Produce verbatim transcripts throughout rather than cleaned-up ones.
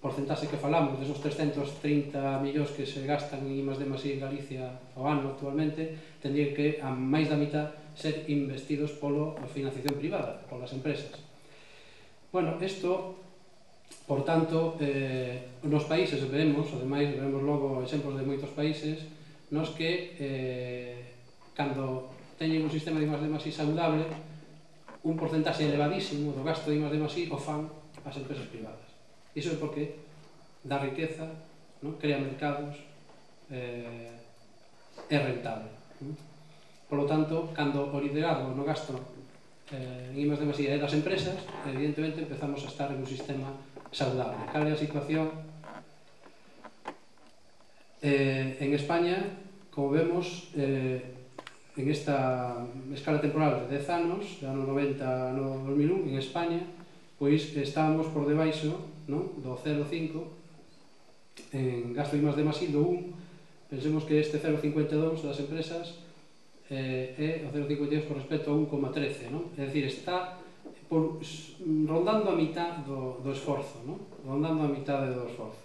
porcentaxe que falamos, desos trescentos trinta millóns que se gastan en I más D más I en Galicia ao ano actualmente, tendrían que, a máis da mitad, ser investidos pola financiación privada, polas empresas. Bueno, isto, por tanto, nos países vemos, ademais, vemos logo exemplos de moitos países, nos que, cando teñen un sistema de I más D más I saudable, un porcentaxe elevadísimo do gasto de I más D más I o fan as empresas privadas. Iso é porque dá riqueza, crea mercados, é rentable. Por lo tanto, cando o liderado no gasto en I más D más I é das empresas, evidentemente empezamos a estar en un sistema saudable. Cal é a situación? En España, como vemos, en esta escala temporal de dez anos, do ano noventa ao dos mil un, en España, pois estábamos por debaixo do cero coma cinco en gasto de I más D más I, do un. Pensemos que este cero coma cincuenta e dous das empresas é o cero coma cincuenta e dous con respecto a un coma trece, é dicir, está rondando a mitad do esforzo, rondando a mitad do esforzo.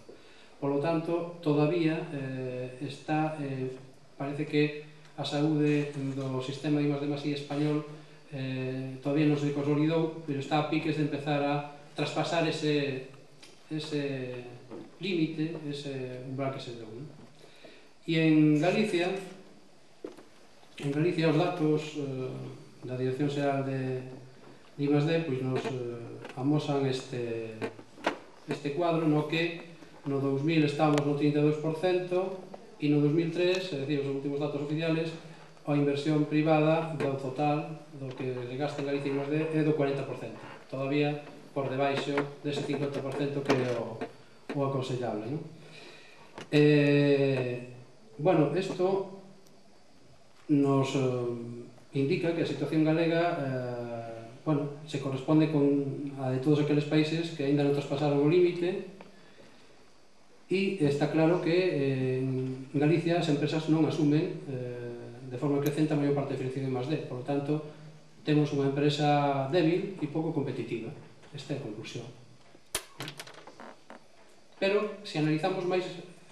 Por lo tanto, todavía está, parece que a saúde do sistema de I más D más I español todavía non se consolidou, pero está a piques de empezar a traspasar ese límite, ese umbral que se deu. E en Galicia, en Galicia os datos da Dirección Xeral de I más D nos amosan este cuadro no que no dous mil estábamos no trinta e dous por cento e no dos mil tres, é dicir, os últimos datos oficiales, a inversión privada do total do que se gasta en Galicia I más D é do cuarenta por cento, todavía por debaixo dese cincuenta por cento que é o aconsellable. Bueno, isto nos indica que a situación galega se corresponde con a de todos aqueles países que aínda non traspasaron o límite. E está claro que en Galicia as empresas non asumen de forma crecente a maior parte de financiación I más D. Por lo tanto, temos unha empresa débil e pouco competitiva. Esta é a conclusión. Pero, se analizamos máis,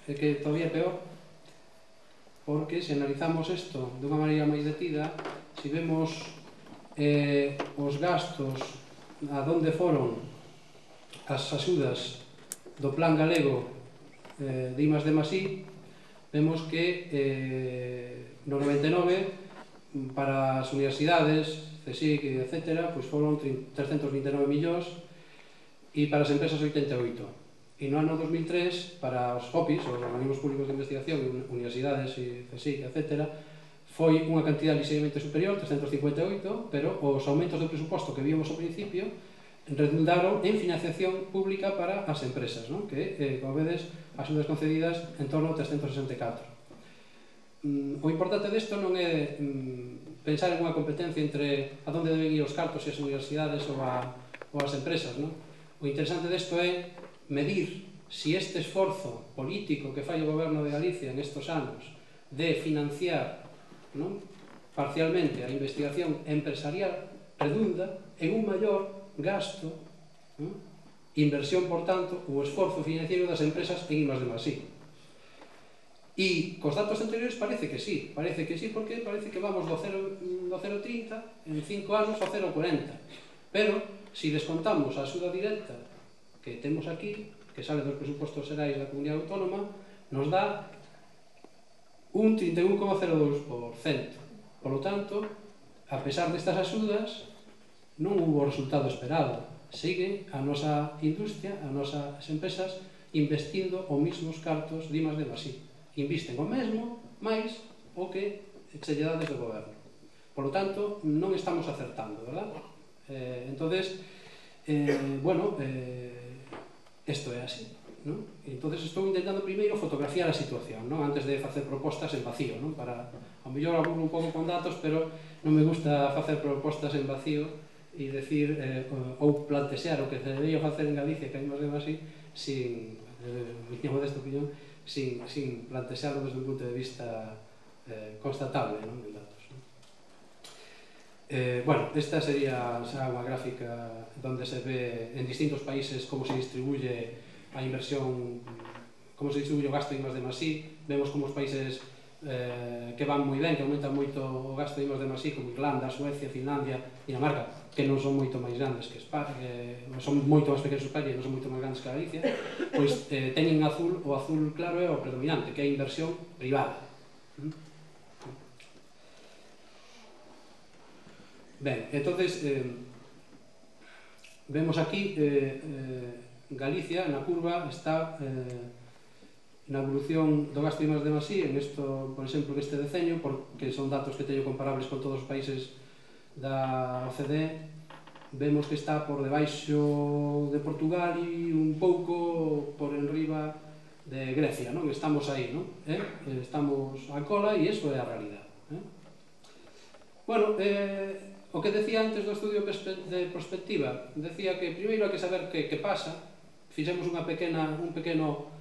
é que todavía é peor, porque se analizamos isto de unha maneira máis detida, se vemos os gastos a donde foron as axudas do Plan Galego de I más D más I, vemos que no noventa e nove para as universidades, CSIC, etcétera, foron trescentos vinte e nove millóns e para as empresas oitenta e oito. E no ano dos mil tres, para os O P I s, os organismos públicos de investigación, universidades, CSIC, etcétera, foi unha cantidad ligeiramente superior, trescentos cincuenta e oito, pero os aumentos do presuposto que víamos ao principio redundaron en financiación pública para as empresas, que, como vedes, axudas concedidas en torno a trescentos sesenta e catro. O importante disto non é pensar en unha competencia entre a donde deben ir os cartos e as universidades ou as empresas. O interesante disto é medir se este esforzo político que fai o goberno de Galicia nestes anos de financiar parcialmente a investigación empresarial redunda en un maior gasto, inversión, por tanto, o esforzo financiero das empresas en I más D más I. E cos datos anteriores parece que sí, parece que sí, porque parece que vamos do cero coma trinta en cinco anos ao cero coma cuarenta. Pero, se descontamos a axuda directa que temos aquí, que sale dos presupostos xerais da Comunidade Autónoma, nos dá un trinta e un coma cero dous por cento. Por lo tanto, a pesar destas axudas, non hubo o resultado esperado. Sigue a nosa industria, as nosas empresas, investindo os mesmos cartos de I más D más I. Invisten o mesmo, máis o que se lle dá desde o goberno. Por lo tanto, non estamos acertando, verdad? Entonces, bueno, isto é así. Entón, estou intentando primeiro fotografiar a situación, antes de facer propostas en vacío. Ao mellor aburro un pouco con datos, pero non me gusta facer propostas en vacío e decir, ou plantexear o que se debería facer en Galicia, que hai máis de máis sin, miña modesta opinión, sin plantexarlo desde un punto de vista constatable en datos. Eh, bueno, esta sería xa unha gráfica donde se ve en distintos países como se distribuye a inversión, como se distribuye o gasto de I más D más I. Vemos como os países eh, que van moi ben, que aumentan moito o gasto de I más D más I, como Irlanda, Suecia, Finlandia, Dinamarca, que non son moito máis grandes que España, eh, son moito máis pequenos que España e non son moito máis grandes que Galicia, pois eh, teñen azul, o azul claro é o predominante, que é a inversión privada. Ben, entonces, eh, vemos aquí eh, eh, Galicia, na curva, está eh, na evolución do gasto de I más D más I, en esto, por exemplo, neste deseño, porque son datos que teño comparables con todos os países da O C D E, vemos que está por debaixo de Portugal e un pouco por enriba de Grecia, non? Estamos aí, non? Eh? Estamos a cola e iso é a realidade. Eh? Bueno, eh, o que decía antes do estudio de prospectiva, decía que primeiro hai que saber que, que pasa. Fixemos unha pequena, un pequeno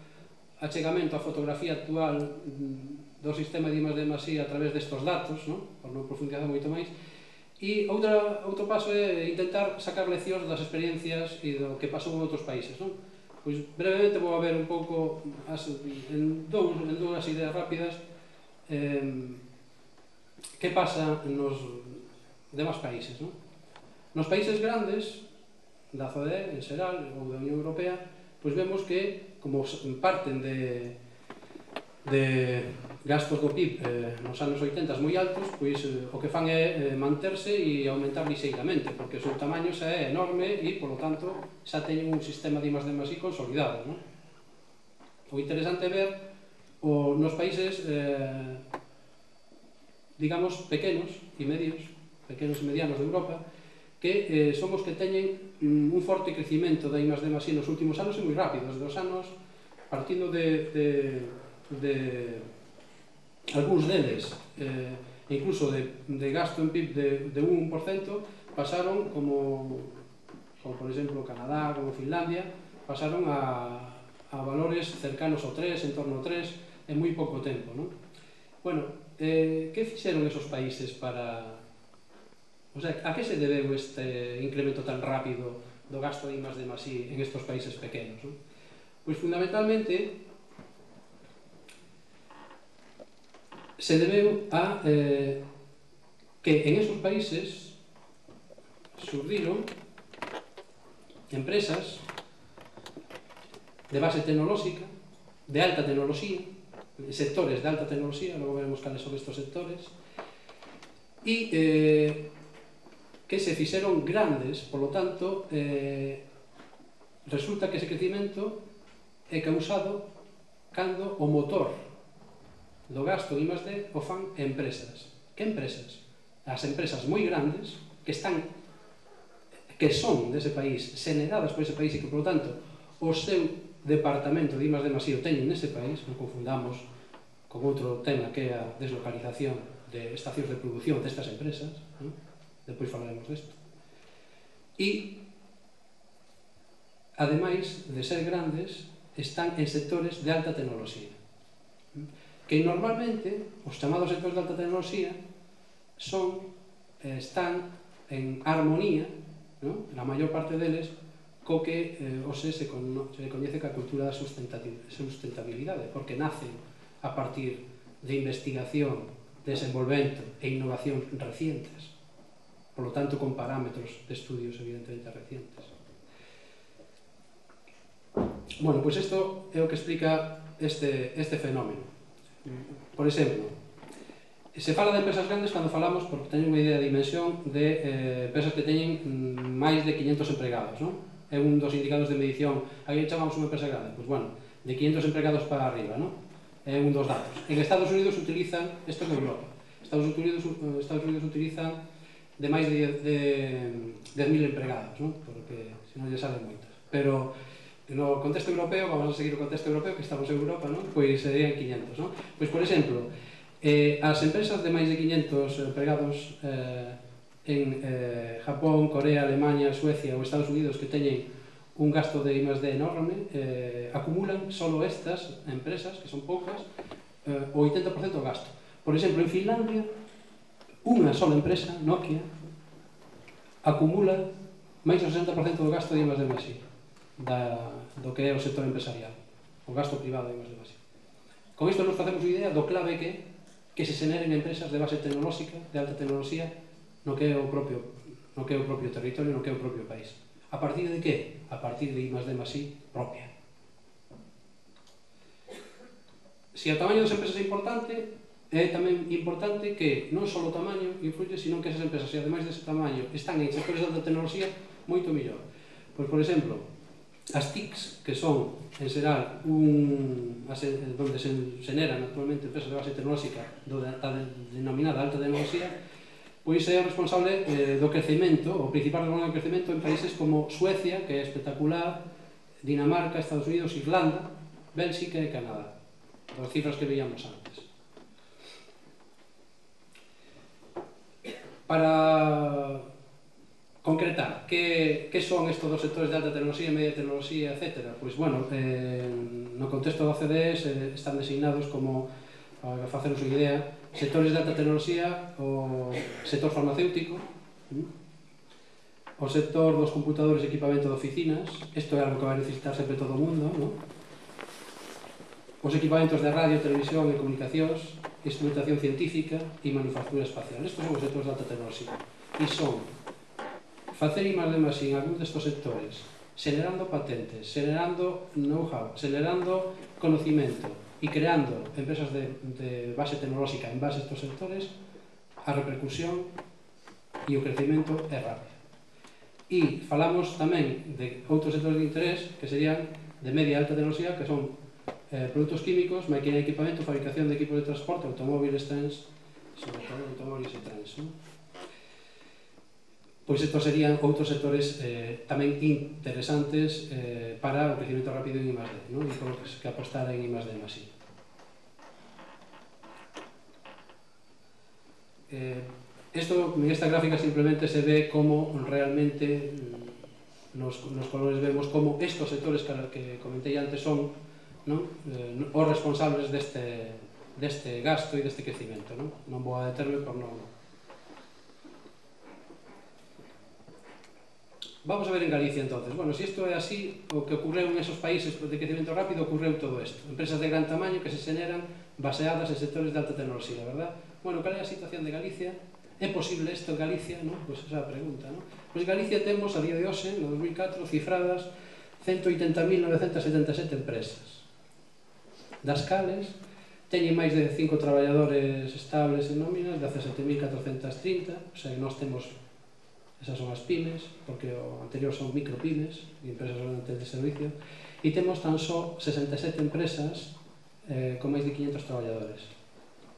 achegamento á fotografía actual do sistema de I más D más I a través destos datos, non? Por non profundizar moito máis. E outra, outro paso é intentar sacar leccións das experiencias e do que pasou en outros países, non? Pois brevemente vou a ver un pouco as, en, dous, en dúas ideas rápidas eh, que pasa nos demais países, non? Nos países grandes da O C D E en xeral ou da Unión Europea, pois vemos que como parten de de gastos do P I B eh, nos anos oitenta moi altos, pois eh, o que fan é eh, manterse e aumentar lixeiramente, porque o seu tamaño xa é enorme e, polo tanto, xa teñen un sistema de I más D más I consolidado, non? O interesante é ver o, nos países eh, digamos pequenos e medios, pequenos e medianos de Europa, que eh, son os que teñen mm, un forte crecimento da I más D más I nos últimos anos e moi rápido, desde os anos partindo de, de, de algúns deles, eh, incluso de, de gasto en P I B de, de un por cento, pasaron como, como por exemplo Canadá, como Finlandia, pasaron a, a valores cercanos ao tres, en torno ao tres, en moi pouco tempo, non? Bueno, eh, que fixeron esos países para... O sea, a que se debeu este incremento tan rápido do gasto de I más D más I en estos países pequenos, non? Pois fundamentalmente se debeu a eh, que en esos países surdiron empresas de base tecnolóxica, de alta tecnoloxía, sectores de alta tecnoloxía, logo veremos cales son estos sectores, e eh, que se fixeron grandes, polo tanto, eh, resulta que ese crecimento é causado cando o motor do gasto de I más D o fan empresas. Que empresas? As empresas moi grandes que están que son dese país, xeneradas por ese país e que, por lo tanto, o seu departamento de I más D más I o teñen nese país, non confundamos con outro tema que é a deslocalización de estacións de produción destas empresas, non? Depois falaremos desto. E, ademais de ser grandes, están en sectores de alta tecnoloxía. Que normalmente, os chamados sectores de alta tecnoloxía son, están en armonía, ¿no? Na maior parte deles, co que eh, ose se, con, se coñece ca cultura da sustentabilidade, porque nacen a partir de investigación, desenvolvemento e innovación recientes, por lo tanto con parámetros de estudios evidentemente recientes. Bueno, pois isto é o que explica este, este fenómeno. Por exemplo, se fala de empresas grandes cando falamos, porque teñen unha idea de dimensión de eh, empresas que teñen máis de quinhentos empregados, non? É un dos indicadores de medición. Aquí chamamos unha empresa grande, pois bueno, de quinhentos empregados para arriba, non? É un dos datos. En Estados Unidos utilizan, isto é en Europa, Estados Unidos, Estados Unidos utilizan de máis de dez mil empregados, non? Porque se non lle salen moitas. Pero no contexto europeo, vamos a seguir o contexto europeo, que estamos en Europa, non? Pois serían quinhentos, non? Pois, por exemplo, eh, as empresas de máis de quinhentos empregados eh, en eh, Japón, Corea, Alemania, Suecia ou Estados Unidos que teñen un gasto de I más D enorme, eh, acumulan solo estas empresas, que son poucas, eh, o oitenta por cento do gasto. Por exemplo, en Finlandia, unha sola empresa, Nokia, acumula máis do sesenta por cento do gasto de I más D máis I do que é o sector empresarial, o gasto privado de I más D máis I. Con isto nos facemos unha idea do clave que que se xeneren empresas de base tecnolóxica, de alta tecnoloxía, no que é o propio, no que é o propio territorio, no que é o propio país. A partir de que? A partir de I más D máis I propia. Se o tamaño das empresas é importante, é tamén importante que non só o tamaño influye, sino que esas empresas, se ademais dese tamaño, están en sectores de alta tecnoloxía, moito mellor. Pois, por exemplo, as T I Cs, que son, en xeral, un, onde se xeneran actualmente empresas de base tecnolóxica da denominada alta tecnoloxía, pois é o responsable eh, do crecemento, o principal responsable do crecemento en países como Suecia, que é espectacular, Dinamarca, Estados Unidos, Irlanda, Bélxica e Canadá. As cifras que veíamos antes. Para concretar, que, que son estos dos sectores de alta tecnoloxía, media tecnoloxía, etcétera? Pois, bueno, eh, no contexto da O C D E eh, están designados como, para faceros unha idea, sectores de alta tecnoloxía, o sector farmacéutico, o sector dos computadores e equipamento de oficinas, isto é algo que vai necesitar sempre todo o mundo, non? Os equipamentos de radio, televisión e comunicacións, instrumentación científica e manufactura espacial. Estos son os sectores de alta tecnoloxía. E son facer I más D máis I en algún destos sectores, xenerando patentes, xenerando know-how, xenerando conocimiento e creando empresas de, de base tecnolóxica en base a estos sectores, a repercusión e o crecimento é rápido. E falamos tamén de outros sectores de interés que serían de media e alta tecnoloxía, que son Eh, produtos químicos, máquina de equipamento, fabricación de equipos de transporte, automóviles, trens, sobre todo automóviles e trens, non? Pois estos serían outros sectores eh, tamén interesantes eh, para o crecimento rápido en I más D, non? E por que apostar en I más D máis I. Eh, esto, en esta gráfica simplemente se ve como realmente nos, nos colores vemos como estos sectores que, que comentei antes son, non? Eh, os responsables deste, deste gasto e deste crecimento, non? Non vou a determe por non... Vamos a ver en Galicia, entonces. Bueno, se isto é así, o que ocorreu en esos países de crecimento rápido, ocorreu todo isto. Empresas de gran tamaño que se xeneran baseadas en sectores de alta tecnoloxía, verdad? Bueno, cal é a situación de Galicia? É posible isto en Galicia, non? Pois esa é a pregunta, non? Pois Galicia temos, a día de hoxe, no dos mil catro, cifradas ciento oitenta mil novecentas setenta e sete empresas, das cales teñen máis de cinco traballadores estables en nóminas, dezasete mil catrocentas trinta, o sea que nós temos, esas son as pymes, porque o anterior son micropymes, empresas de servicio, e temos tan só sesenta e sete empresas eh, con máis de quinhentos traballadores,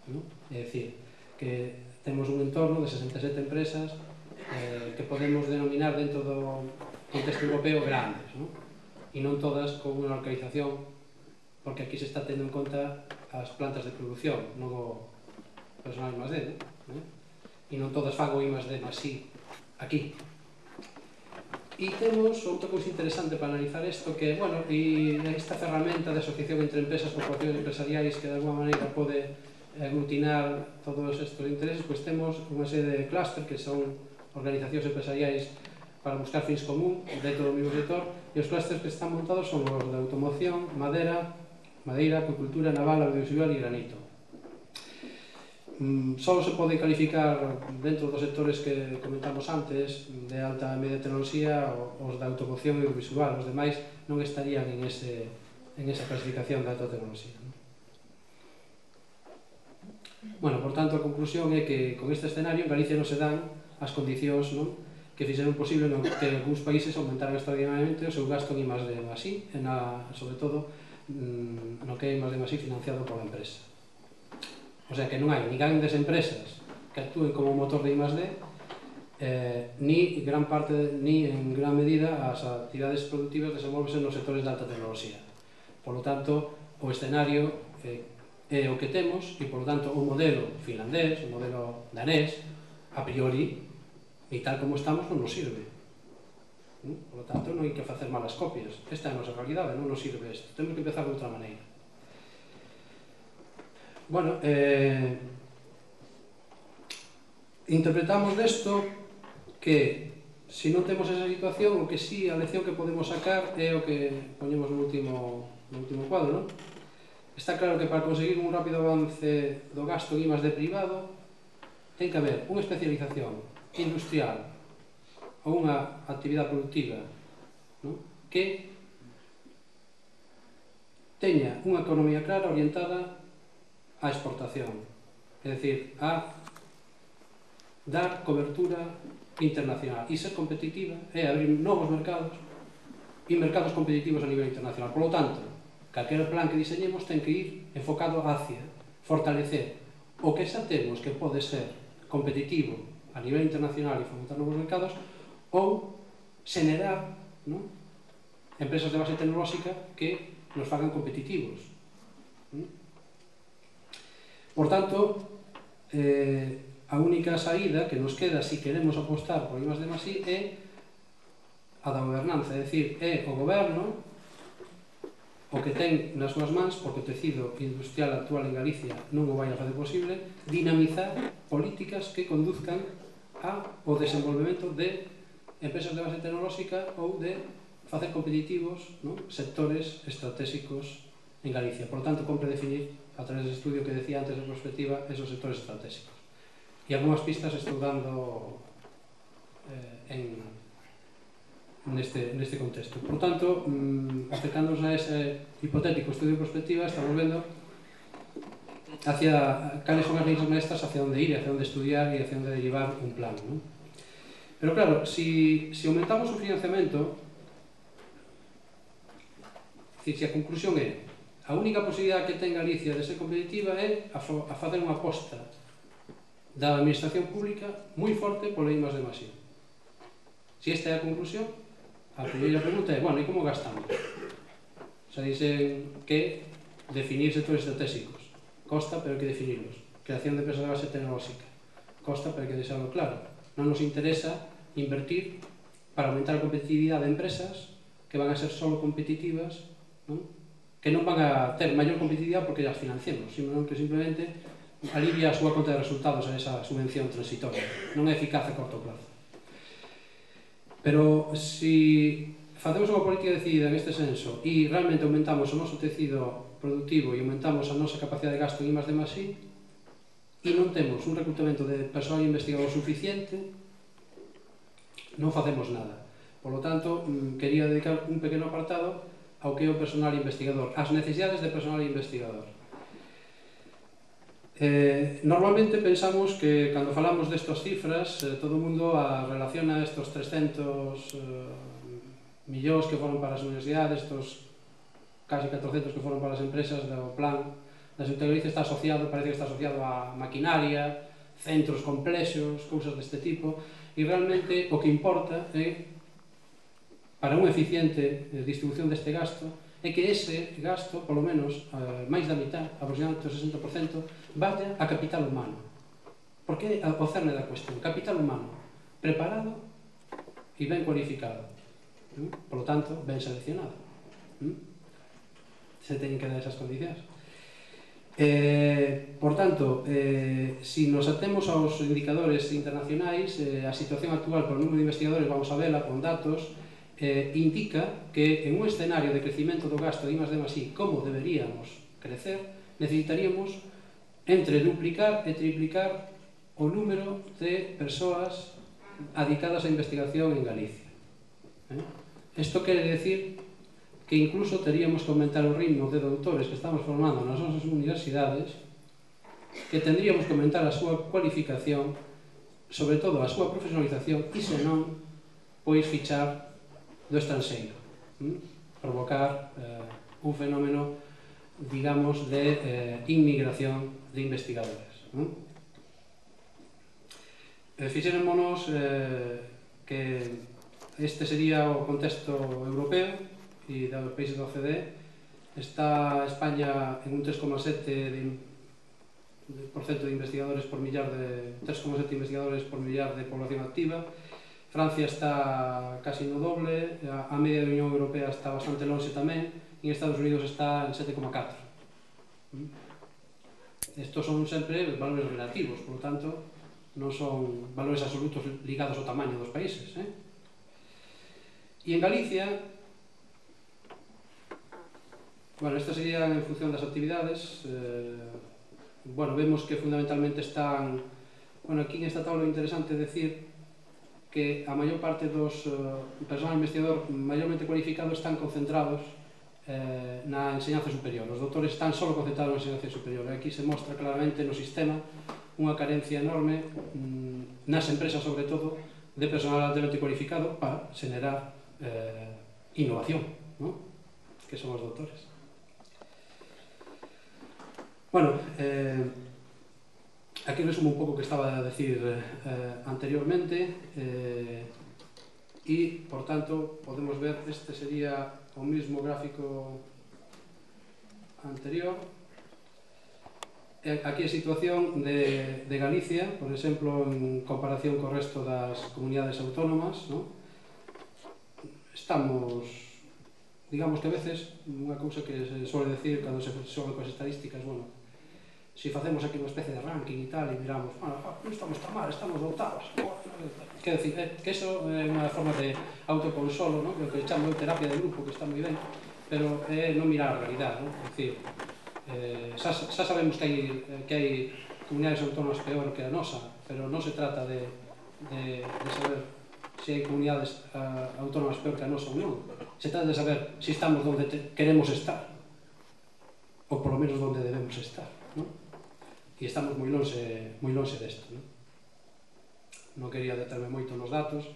non? É dicir, que temos un entorno de sesenta e sete empresas eh, que podemos denominar dentro do contexto europeo grandes, non? E non todas con unha localización, porque aquí se está tendo en conta as plantas de produción, non o personal I más D, non? E non todas fan o I más D máis I aquí. E temos outra cousa interesante para analizar isto, que, bueno, e esta ferramenta de asociación entre empresas, corporacións empresariais que de alguma maneira pode aglutinar todos estes intereses, pois temos unha serie de clúster que son organizacións empresariais para buscar fins común dentro do mesmo sector, e os clústeres que están montados son os de automoción, madera, madeira, acuicultura, naval, audiovisual e granito. Mm, só se pode calificar dentro dos sectores que comentamos antes, de alta e media tecnoloxía, os da automoción e audiovisual, os demais non estarían en, ese, en esa clasificación de alta tecnoloxía. Bueno, por tanto, a conclusión é que con este escenario en Galicia non se dan as condicións, non, que fixeron posible non, que algúns países aumentaran extraordinariamente o seu gasto en I más D máis I, e na, sobre todo no que é I más D máis I financiado pola empresa. O sea que non hai ni grandes empresas que actúen como motor de I más D, eh, ni gran parte, ni en gran medida as actividades productivas desenvolvense nos sectores de alta tecnoloxía. Por lo tanto, o escenario eh, é o que temos e, por lo tanto, o modelo finlandés, o modelo danés, a priori, e tal como estamos, non nos sirve. Por lo tanto, non hai que facer malas copias. Esta é a nosa realidade, non nos sirve isto. Temos que empezar de outra maneira. Bueno, eh, interpretamos desto que se non temos esa situación, o que sí, a lección que podemos sacar é o que poñemos no último, no último cuadro, non? Está claro que para conseguir un rápido avance do gasto en I más D privado ten que haber unha especialización industrial ou unha actividade productiva, non? Que teña unha economía clara orientada á exportación, é dicir, a dar cobertura internacional e ser competitiva é abrir novos mercados e mercados competitivos a nivel internacional. Por lo tanto, calquera plan que diseñemos ten que ir enfocado hacia fortalecer o que xa temos que pode ser competitivo a nivel internacional e fomentar novos mercados, ou xenerar, non, empresas de base tecnolóxica que nos fagan competitivos. Por tanto, eh, a única saída que nos queda se si queremos apostar por I más D más I é a da gobernanza, é dicir, é o goberno o que ten nas súas mans, porque o tecido industrial actual en Galicia non o vai a fazer posible, dinamizar políticas que conduzcan ao desenvolvemento de empresas de base tecnolóxica ou de facer competitivos, non, sectores estratégicos en Galicia. Por lo tanto, compre definir, a través do estudio que decía antes de perspectiva, esos sectores estratégicos. E algunhas pistas estou dando eh, en, neste, neste contexto. Por tanto, mmm, acercándonos a ese hipotético estudio de perspectiva, estamos vendo hacia cales son as líneas maestras, hacia onde ir, hacia onde estudiar e hacia onde derivar un plan, ¿no? Pero claro, si, si aumentamos o financiamento, si, si a conclusión é a única posibilidade que ten Galicia de ser competitiva é a, a facer unha aposta da administración pública moi forte polo I más D más I. Se esta é a conclusión, a primeira pregunta é, bueno, e como gastamos? Xa dicen que definir sectores estratégicos costa, pero hai que definirlos. Creación de empresas de base tecnolóxica costa, pero hai que deixarlo claro. Non nos interesa invertir para aumentar a competitividade de empresas que van a ser solo competitivas, non? Que non van a ter maior competitividade porque as financiemos, sino que simplemente alivia a súa conta de resultados a esa subvención transitoria, non é eficaz a corto plazo. Pero se facemos unha política decidida neste senso e realmente aumentamos o noso tecido productivo e aumentamos a nosa capacidade de gasto en I más D más I e non temos un reclutamento de persoal investigador suficiente, non facemos nada. Por lo tanto, quería dedicar un pequeno apartado ao que é o personal investigador, as necesidades de personal investigador. Eh, normalmente pensamos que cando falamos destas cifras eh, todo o mundo a relaciona estos trescentos eh, millóns que foron para as universidades, estos casi catrocentos que foron para as empresas do plan da Xunta de Galicia, está asociado, parece que está asociado a maquinaria, centros complexos, cousas deste tipo, e realmente o que importa é, para unha eficiente distribución deste gasto, é que ese gasto, polo menos, eh, máis da mitad, aproximadamente o sesenta por cento, vaya a capital humano. Porque é o cerne da cuestión. Capital humano preparado e ben cualificado. ¿Mm? Por lo tanto, ben seleccionado. ¿Mm? Se teñen que dar esas condicións. Eh, por tanto, eh, si nos atemos aos indicadores internacionais, eh, a situación actual por número de investigadores, vamos a vela con datos, eh, indica que en un escenario de crecimiento do gasto de I más D más I como deberíamos crecer, necesitaríamos entre duplicar e triplicar o número de persoas adicadas á investigación en Galicia. Isto eh? quere decir que incluso teríamos que aumentar o ritmo de doutores que estamos formando nas nosas universidades, que tendríamos que aumentar a súa cualificación, sobre todo a súa profesionalización, e senón, pois fichar do estranxeiro, ¿m? provocar eh, un fenómeno, digamos, de eh, inmigración de investigadores. ¿M? Eh, fixémonos eh, que este sería o contexto europeo e dos países da O C D E. Está España en un tres coma sete por cento de investigadores por millar de tres coma sete investigadores por millar de población activa. Francia está casi no doble, a media da Unión Europea está bastante lonxe tamén, e en Estados Unidos está en sete coma catro. Estos son sempre valores relativos, por lo tanto, non son valores absolutos ligados ao tamaño dos países. Eh? E en Galicia, bueno, esta sería en función das actividades, eh, bueno, vemos que fundamentalmente están, bueno, aquí nesta tabla é interesante decir que a maior parte dos uh, personal investigador maiormente cualificado están concentrados eh, na enseñanza superior. Os doutores están só concentrados na enseñanza superior. Aquí se mostra claramente no sistema unha carencia enorme, mm, nas empresas sobre todo, de personal altamente cualificado para xenerar eh, innovación, ¿no? Que son os doutores. Bueno, eh, aquí resumo un pouco o que estaba a decir eh, anteriormente eh, e, por tanto, podemos ver, este sería o mismo gráfico anterior. Aquí a situación de, de Galicia, por exemplo, en comparación co resto das comunidades autónomas, ¿no? Estamos, digamos que a veces, unha cousa que se suele decir cando se xoga coas estadísticas, bueno, se facemos aquí unha especie de ranking e tal, e miramos, bueno, non estamos tan mal, estamos dotados. Quer decir, que iso é unha forma de autoconsolo, ¿no? Que chamo de terapia de grupo, que está moi ben, pero é non mirar a realidade, ¿no? É dicir, eh, xa, xa sabemos que hai, que hai comunidades autónomas peor que a nosa, pero non se trata de, de, de saber se hai comunidades uh, autónomas peor que a nosa ou non. Se trata de saber se estamos onde te, queremos estar, ou por lo menos onde debemos estar, ¿no? E estamos moi lonxe, moi lonxe desto, non? Non quería determe moito nos datos.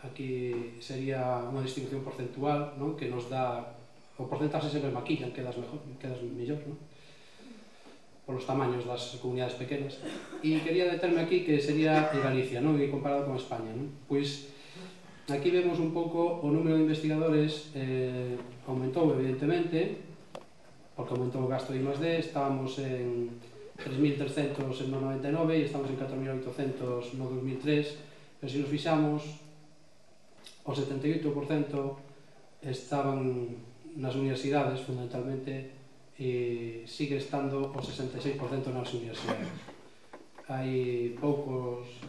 Aquí sería unha distribución porcentual, non? Que nos dá, o porcentaxe sempre maquillan, quedas mellor, quedas mellor, non? Polos tamaños das comunidades pequenas. E quería determe aquí que sería en Galicia, non? E comparado con España, non? Pois aquí vemos un pouco o número de investigadores eh, aumentou evidentemente, porque aumentou o gasto de I más D, estábamos en tres mil trescentos en no noventa e nove e estamos en catro mil oitocentos no dos mil tres, pero se nos fixamos, o setenta e oito por cento estaban nas universidades fundamentalmente e sigue estando o sesenta e seis por cento nas universidades. Hai poucos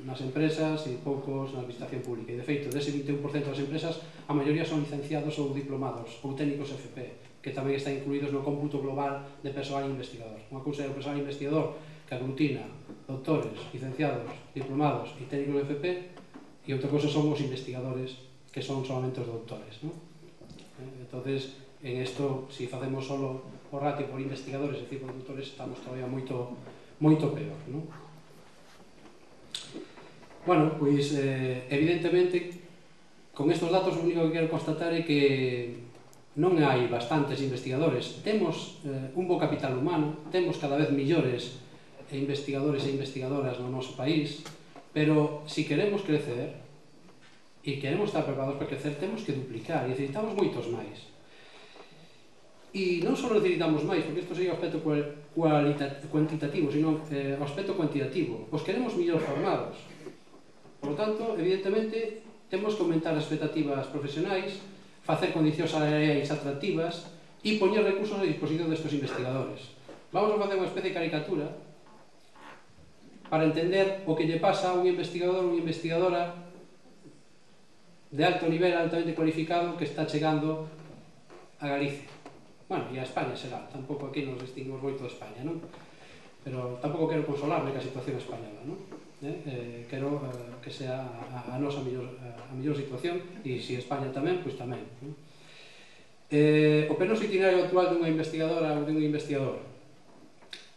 nas empresas e poucos na administración pública e de feito, dese vinte e un por cento das empresas a maioría son licenciados ou diplomados ou técnicos F P, que tamén están incluídos no cómputo global de persoal investigador. Unha cousa é o persoal investigador que aglutina doutores, licenciados, diplomados e técnicos F P e outra cousa son os investigadores que son solamente os doutores, ¿no? Entonces, en isto, se facemos solo o ratio por investigadores, é dicir, por doutores, estamos todavía moito moito peor, ¿no? Bueno, pois, eh, evidentemente, con estes datos o único que quero constatar é que non hai bastantes investigadores. Temos eh, un bo capital humano, temos cada vez millores investigadores e investigadoras no noso país, pero se queremos crecer e queremos estar preparados para crecer, temos que duplicar e necesitamos moitos máis. E non só necesitamos máis, porque isto sería o aspecto cuantitativo, sino eh, o aspecto cuantitativo. Os queremos mellor formados. Por lo tanto, evidentemente, temos que aumentar as expectativas profesionais, facer condicións salariais atractivas e poñer recursos a disposición destes investigadores. Vamos a facer unha especie de caricatura para entender o que lle pasa a un investigador ou unha investigadora de alto nivel, altamente cualificado, que está chegando a Galicia. Bueno, e a España será, tampouco aquí nos distinguimos moito de España, non? Pero tampouco quero consolarme ca situación española, non? Eh, eh, quero eh, que sea a, a nosa mellor, a, a mellor situación e se España tamén, pois tamén, non? Eh, o penoso itinerario actual dunha investigadora ou dun investigador.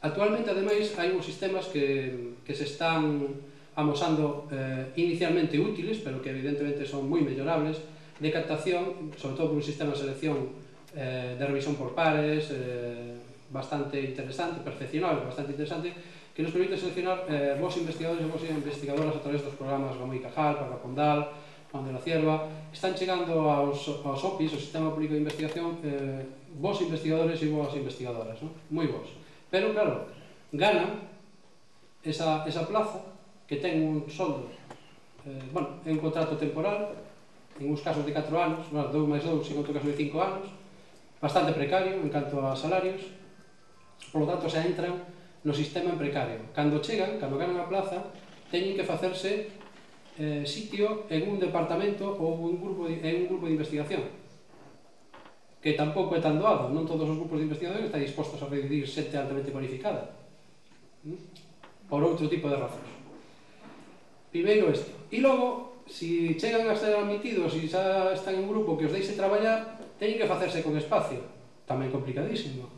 Actualmente, ademais, hai uns sistemas que, que se están amosando eh, inicialmente útiles, pero que evidentemente son moi mellorables, de captación, sobre todo por un sistema de selección eh, de revisión por pares, eh, bastante interesante, perfeccionable, bastante interesante, que nos permite seleccionar eh, vos investigadores e vos investigadoras a través dos programas Ramón y Cajal, Parrapondal, Juan de la Cierva. Están chegando aos, aos O P I S, o Sistema Público de Investigación, eh, vos investigadores e vos investigadoras, ¿no? Moi vos. Pero, claro, ganan esa, esa plaza que ten un soldo, eh, bueno, é un contrato temporal, en uns casos de catro anos, bueno, dous máis dous, en outro caso de cinco anos, bastante precario en canto a salarios, por lo tanto, se entran no sistema en precario. Cando chegan, cando ganan a plaza, teñen que facerse eh, sitio en un departamento ou un grupo de, en un grupo de investigación, que tampouco é tan doado. Non todos os grupos de investigación están dispostos a recibir xente altamente cualificada, por outro tipo de razóns. Primeiro isto. E logo, se chegan a ser admitidos e xa están en un grupo que os deixe traballar, teñen que facerse con espacio, tamén complicadísimo.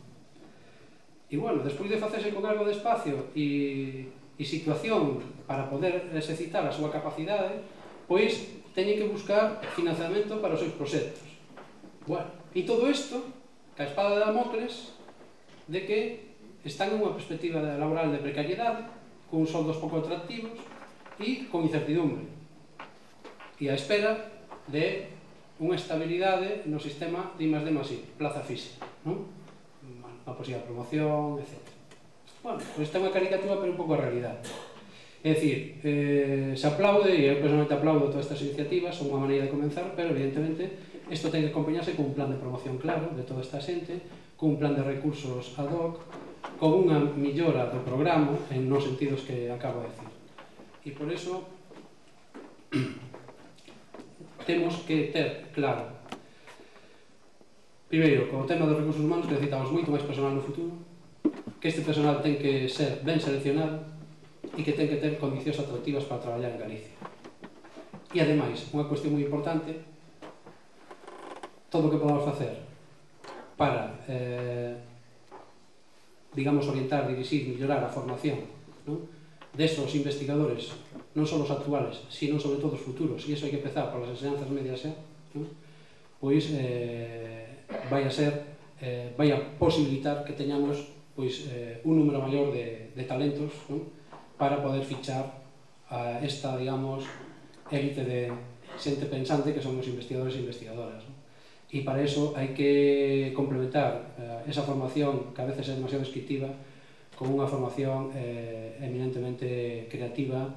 E, bueno, despois de facerse con algo de espacio e, e situación para poder exercitar a súa capacidade, pois teñen que buscar financiamento para os seus proxectos. Bueno, e todo isto, ca espada de Damocles, de que están en unha perspectiva laboral de precariedade, con soldos pouco atractivos e con incertidumbre. E a espera de unha estabilidade no sistema de I más D más I, plaza física, non? A posible promoción, etcétera. Bueno, pois esta é unha caricatura, pero un pouco a realidade. É dicir, eh, se aplaude, e eu personalmente aplaudo todas estas iniciativas, son unha maneira de comenzar, pero evidentemente isto ten que acompañarse con un plan de promoción claro de toda esta xente, con un plan de recursos ad hoc, con unha millora do programa en nos sentidos que acabo de decir. E por iso temos que ter claro, primeiro, con o tema dos recursos humanos, que necesitamos moito máis personal no futuro, que este personal ten que ser ben seleccionado e que ten que ter condicións atractivas para traballar en Galicia. E, ademais, unha cuestión moi importante, todo o que podamos facer para, eh, digamos, orientar, dirixir, mellorar a formación, non? Desos investigadores, non só os actuales, sino sobre todo os futuros, e iso hai que empezar por as enseñanzas medias xa, non? Pois eh, vai a ser, eh, vai a posibilitar que teñamos pois, eh, un número maior de, de talentos, non? Para poder fichar a esta, digamos, élite de xente pensante que son os investigadores e investigadoras, non? E para iso hai que complementar eh, esa formación que a veces é demasiado descriptiva con unha formación eh, eminentemente creativa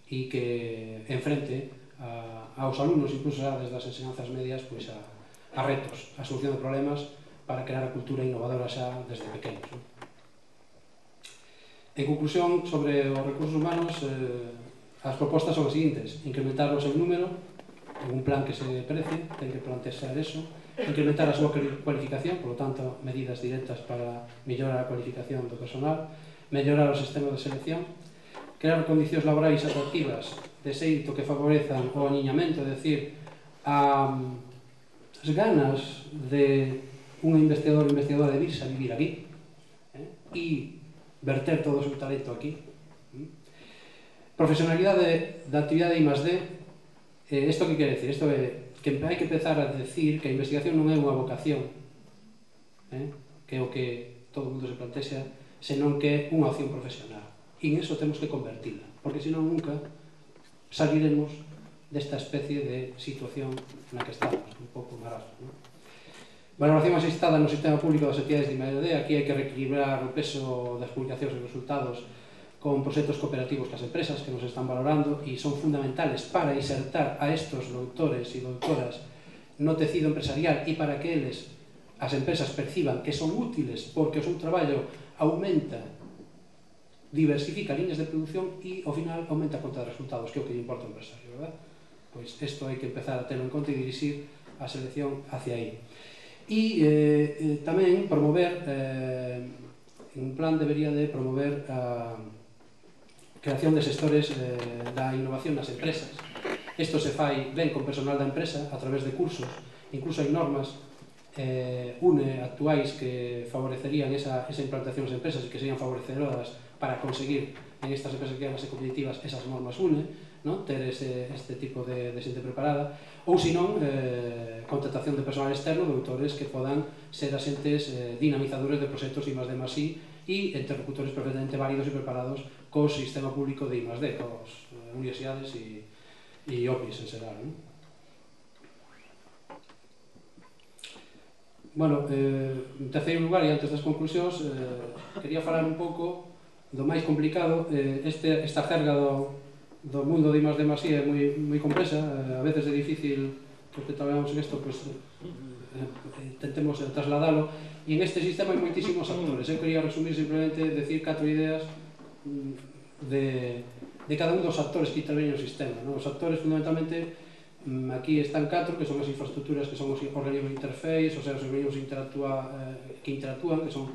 e que enfrente a, aos alumnos, incluso desde as enseñanzas medias, pois a, a retos, a solución de problemas para crear a cultura innovadora xa desde pequenos, non? En conclusión, sobre os recursos humanos, eh, as propostas son as seguintes: incrementar o seu número en un plan que se precie, ten que plantear eso, incrementar a súa cualificación, por lo tanto, medidas directas para mellorar a cualificación do personal, mellorar o sistema de selección, crear condicións laborais atractivas de xeito que favorezan o aniñamento, é dicir, a, as ganas de un investigador ou investigadora de virse a vivir aquí, eh, e verter todo o seu talento aquí. Profesionalidade da actividade I más D, eh, isto que quere decir? Isto é que hai que empezar a decir que a investigación non é unha vocación, eh, que é o que todo o mundo se plantexa, senón que é unha opción profesional. E en eso temos que convertila, porque senón nunca saliremos desta especie de situación na que estamos, un pouco marasmo, non? Valoración asistada no sistema público das actividades de I más D. Aquí hai que reequilibrar o peso das publicacións e resultados con proxectos cooperativos que as empresas que nos están valorando e son fundamentales para insertar a estos doutores e doutoras no tecido empresarial e para que eles, as empresas, perciban que son útiles porque o seu traballo aumenta, diversifica líneas de produción e, ao final, aumenta a conta de resultados, que é o que lle importa ao empresario, verdad? Pois isto hai que empezar a terlo en conta e dirixir a selección hacia aí. E eh, tamén promover, eh, un plan debería de promover a creación de sectores eh, da innovación nas empresas. Isto se fai ben con personal da empresa a través de cursos, incluso hai normas eh, une actuais que favorecerían esa, esa implantación das empresas e que serían favorecedoras para conseguir en estas empresas que queran ser competitivas esas normas une, ¿no? Ter ese, este tipo de, de xente preparada, ou senón eh, contratación de personal externo, doutores que podan ser asentes eh, dinamizadores de proxectos I más D más I e interlocutores perfectamente válidos e preparados co sistema público de I más D, cos eh, universidades e, e O P I S en xeral, ¿no? Bueno, eh, en terceiro lugar, e antes das conclusións, eh, quería falar un pouco do máis complicado. eh, este, esta jerga do, do mundo de I más D más I é moi, moi complexa, eh, a veces é difícil que que traballamos en isto, pues, eh, tentemos trasladalo, e en este sistema hai moitísimos actores. Eu quería resumir simplemente, decir catro ideas de de cada un dos actores que interveñen no sistema. Non? Os actores, fundamentalmente, aquí están catro, que son as infraestructuras, que son os organismos de interface, ou sea, os organismos interactúa, eh, que interactúan, que son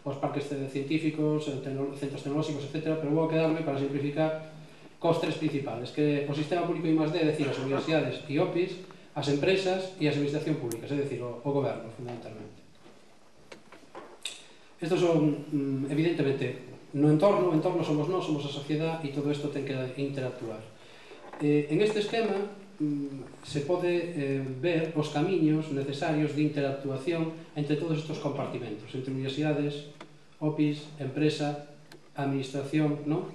os parques científicos, centros tecnolóxicos, etcétera, pero vou quedarme, para simplificar, cos tres principales, que o sistema público I más D, é dicir, as universidades e O P I s, as empresas e a administración pública, é dicir, o, o goberno, fundamentalmente. Estos son, evidentemente, no entorno, o entorno somos nós, somos a sociedade, e todo isto ten que interactuar. Eh, en este esquema, se pode eh, ver os camiños necesarios de interactuación entre todos estes compartimentos, entre universidades, O P I S, empresa, administración, ¿no?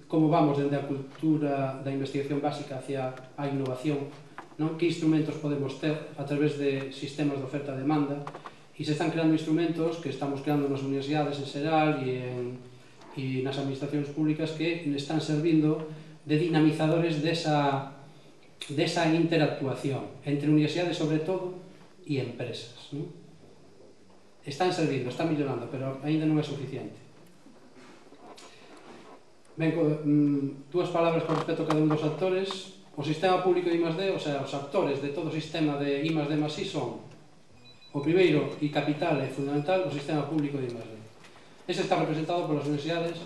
Como vamos dende a cultura da investigación básica hacia a innovación, ¿no? Que instrumentos podemos ter a través de sistemas de oferta e demanda, e se están creando instrumentos que estamos creando nas universidades en xeral e, en, e nas administracións públicas que están servindo de dinamizadores desa desa interactuación entre universidades, sobre todo, e empresas. ¿No? Están servindo, están millorando, pero ainda non é suficiente. Ben, dúas palabras con respecto a cada un dos actores. O sistema público de I más D, o sea, os actores de todo o sistema de I más D más I son o primeiro e capital e fundamental o sistema público de I más D. Ese está representado polas universidades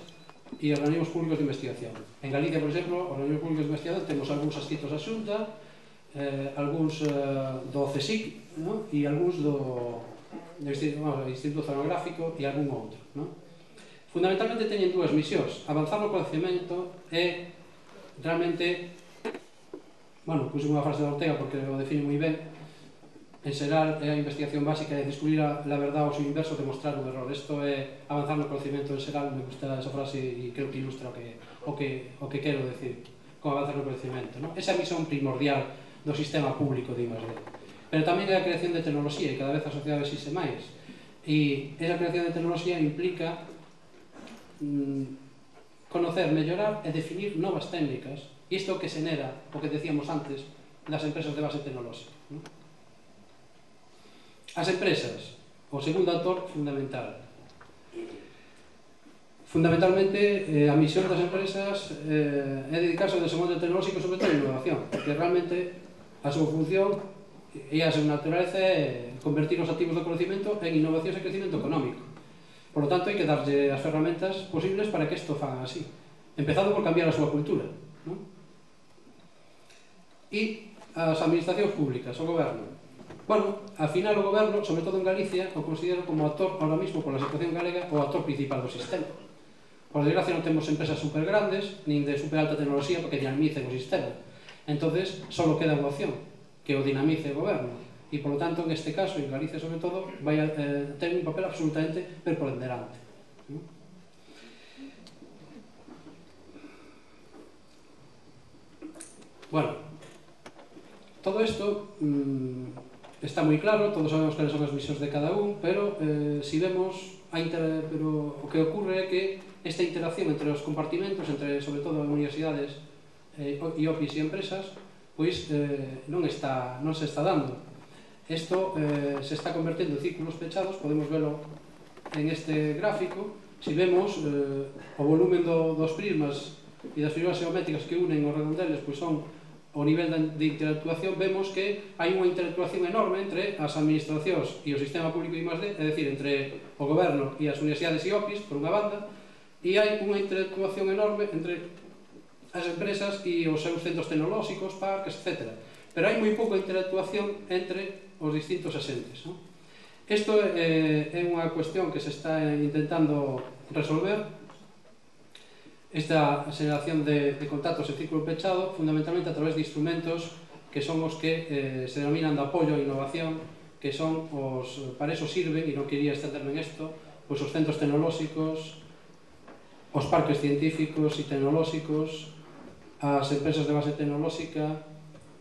e organismos públicos de investigación. En Galicia, por exemplo, os organismos públicos de investigación temos algúns adscritos á Xunta, eh, algúns eh, do CSIC, ¿no? E algúns do, do Instituto Oceanográfico e algún outro. ¿No? Fundamentalmente teñen dúas misións: avanzar no conhecimento e realmente, bueno, puse unha frase de Ortega porque o define moi ben. En xeral, é a investigación básica de descubrir a, a verdade ao seu inverso, demostrar un error. Isto é avanzar no conocimiento en xeral. Me gusta esa frase e creo que ilustra o que, o que, o que quero decir con avanzar no conocimiento. ¿No? Esa é a misión primordial do sistema público de I más D. Pero tamén é a creación de tecnoloxía, e cada vez a sociedade existe máis. E esa creación de tecnoloxía implica mmm, conocer, mellorar e definir novas técnicas. E isto que xenera, o que decíamos antes, das empresas de base tecnolóxica. ¿No? As empresas, o segundo actor fundamental. Fundamentalmente, eh, a misión das empresas eh, é dedicarse ao desenvolvemento tecnolóxico e sobre todo a innovación, porque realmente a súa función e a súa naturaleza é convertir os activos do conocimiento en innovacións e crecimiento económico. Por lo tanto, hai que darlle as ferramentas posibles para que isto fagan así, empezando por cambiar a súa cultura. ¿No? E as administracións públicas, o goberno. Bueno, ao final o goberno, sobre todo en Galicia, o considero como actor, ahora mismo, pola situación galega, o actor principal do sistema. Por desgracia non temos empresas super grandes, nin de super alta tecnoloxía, porque dinamicen o sistema. Entonces, só queda unha opción, que o dinamice o goberno. E, por lo tanto, en este caso, en Galicia, sobre todo, vai a eh, ter un papel absolutamente preponderante. ¿No? Bueno, todo isto mmm, está moi claro, todos sabemos que son as misións de cada un, pero eh, si vemos a inter... pero o que ocurre é que esta interacción entre os compartimentos, entre sobre todo as universidades eh, e O P I S e empresas, pois eh, non, está, non se está dando. Isto eh, se está convertendo en círculos pechados, podemos velo en este gráfico. Si vemos eh, o volumen do, dos prismas e das figuras geométricas que unen os redondeles, pois son o nivel de interactuación, vemos que hai unha interactuación enorme entre as administracións e o sistema público I más D, é dicir, entre o goberno e as universidades e O P I S, por unha banda, e hai unha interactuación enorme entre as empresas e os seus centros tecnolóxicos, parques, etcétera. Pero hai moi pouca interactuación entre os distintos asentes. ¿No? Isto é, é unha cuestión que se está intentando resolver, esta xeración de, de contactos en círculo pechado, fundamentalmente a través de instrumentos que son os que eh, se denominan de apoio a innovación, que son os, para eso sirven, e non quería extenderme en isto, pois os centros tecnolóxicos, os parques científicos e tecnolóxicos, as empresas de base tecnolóxica,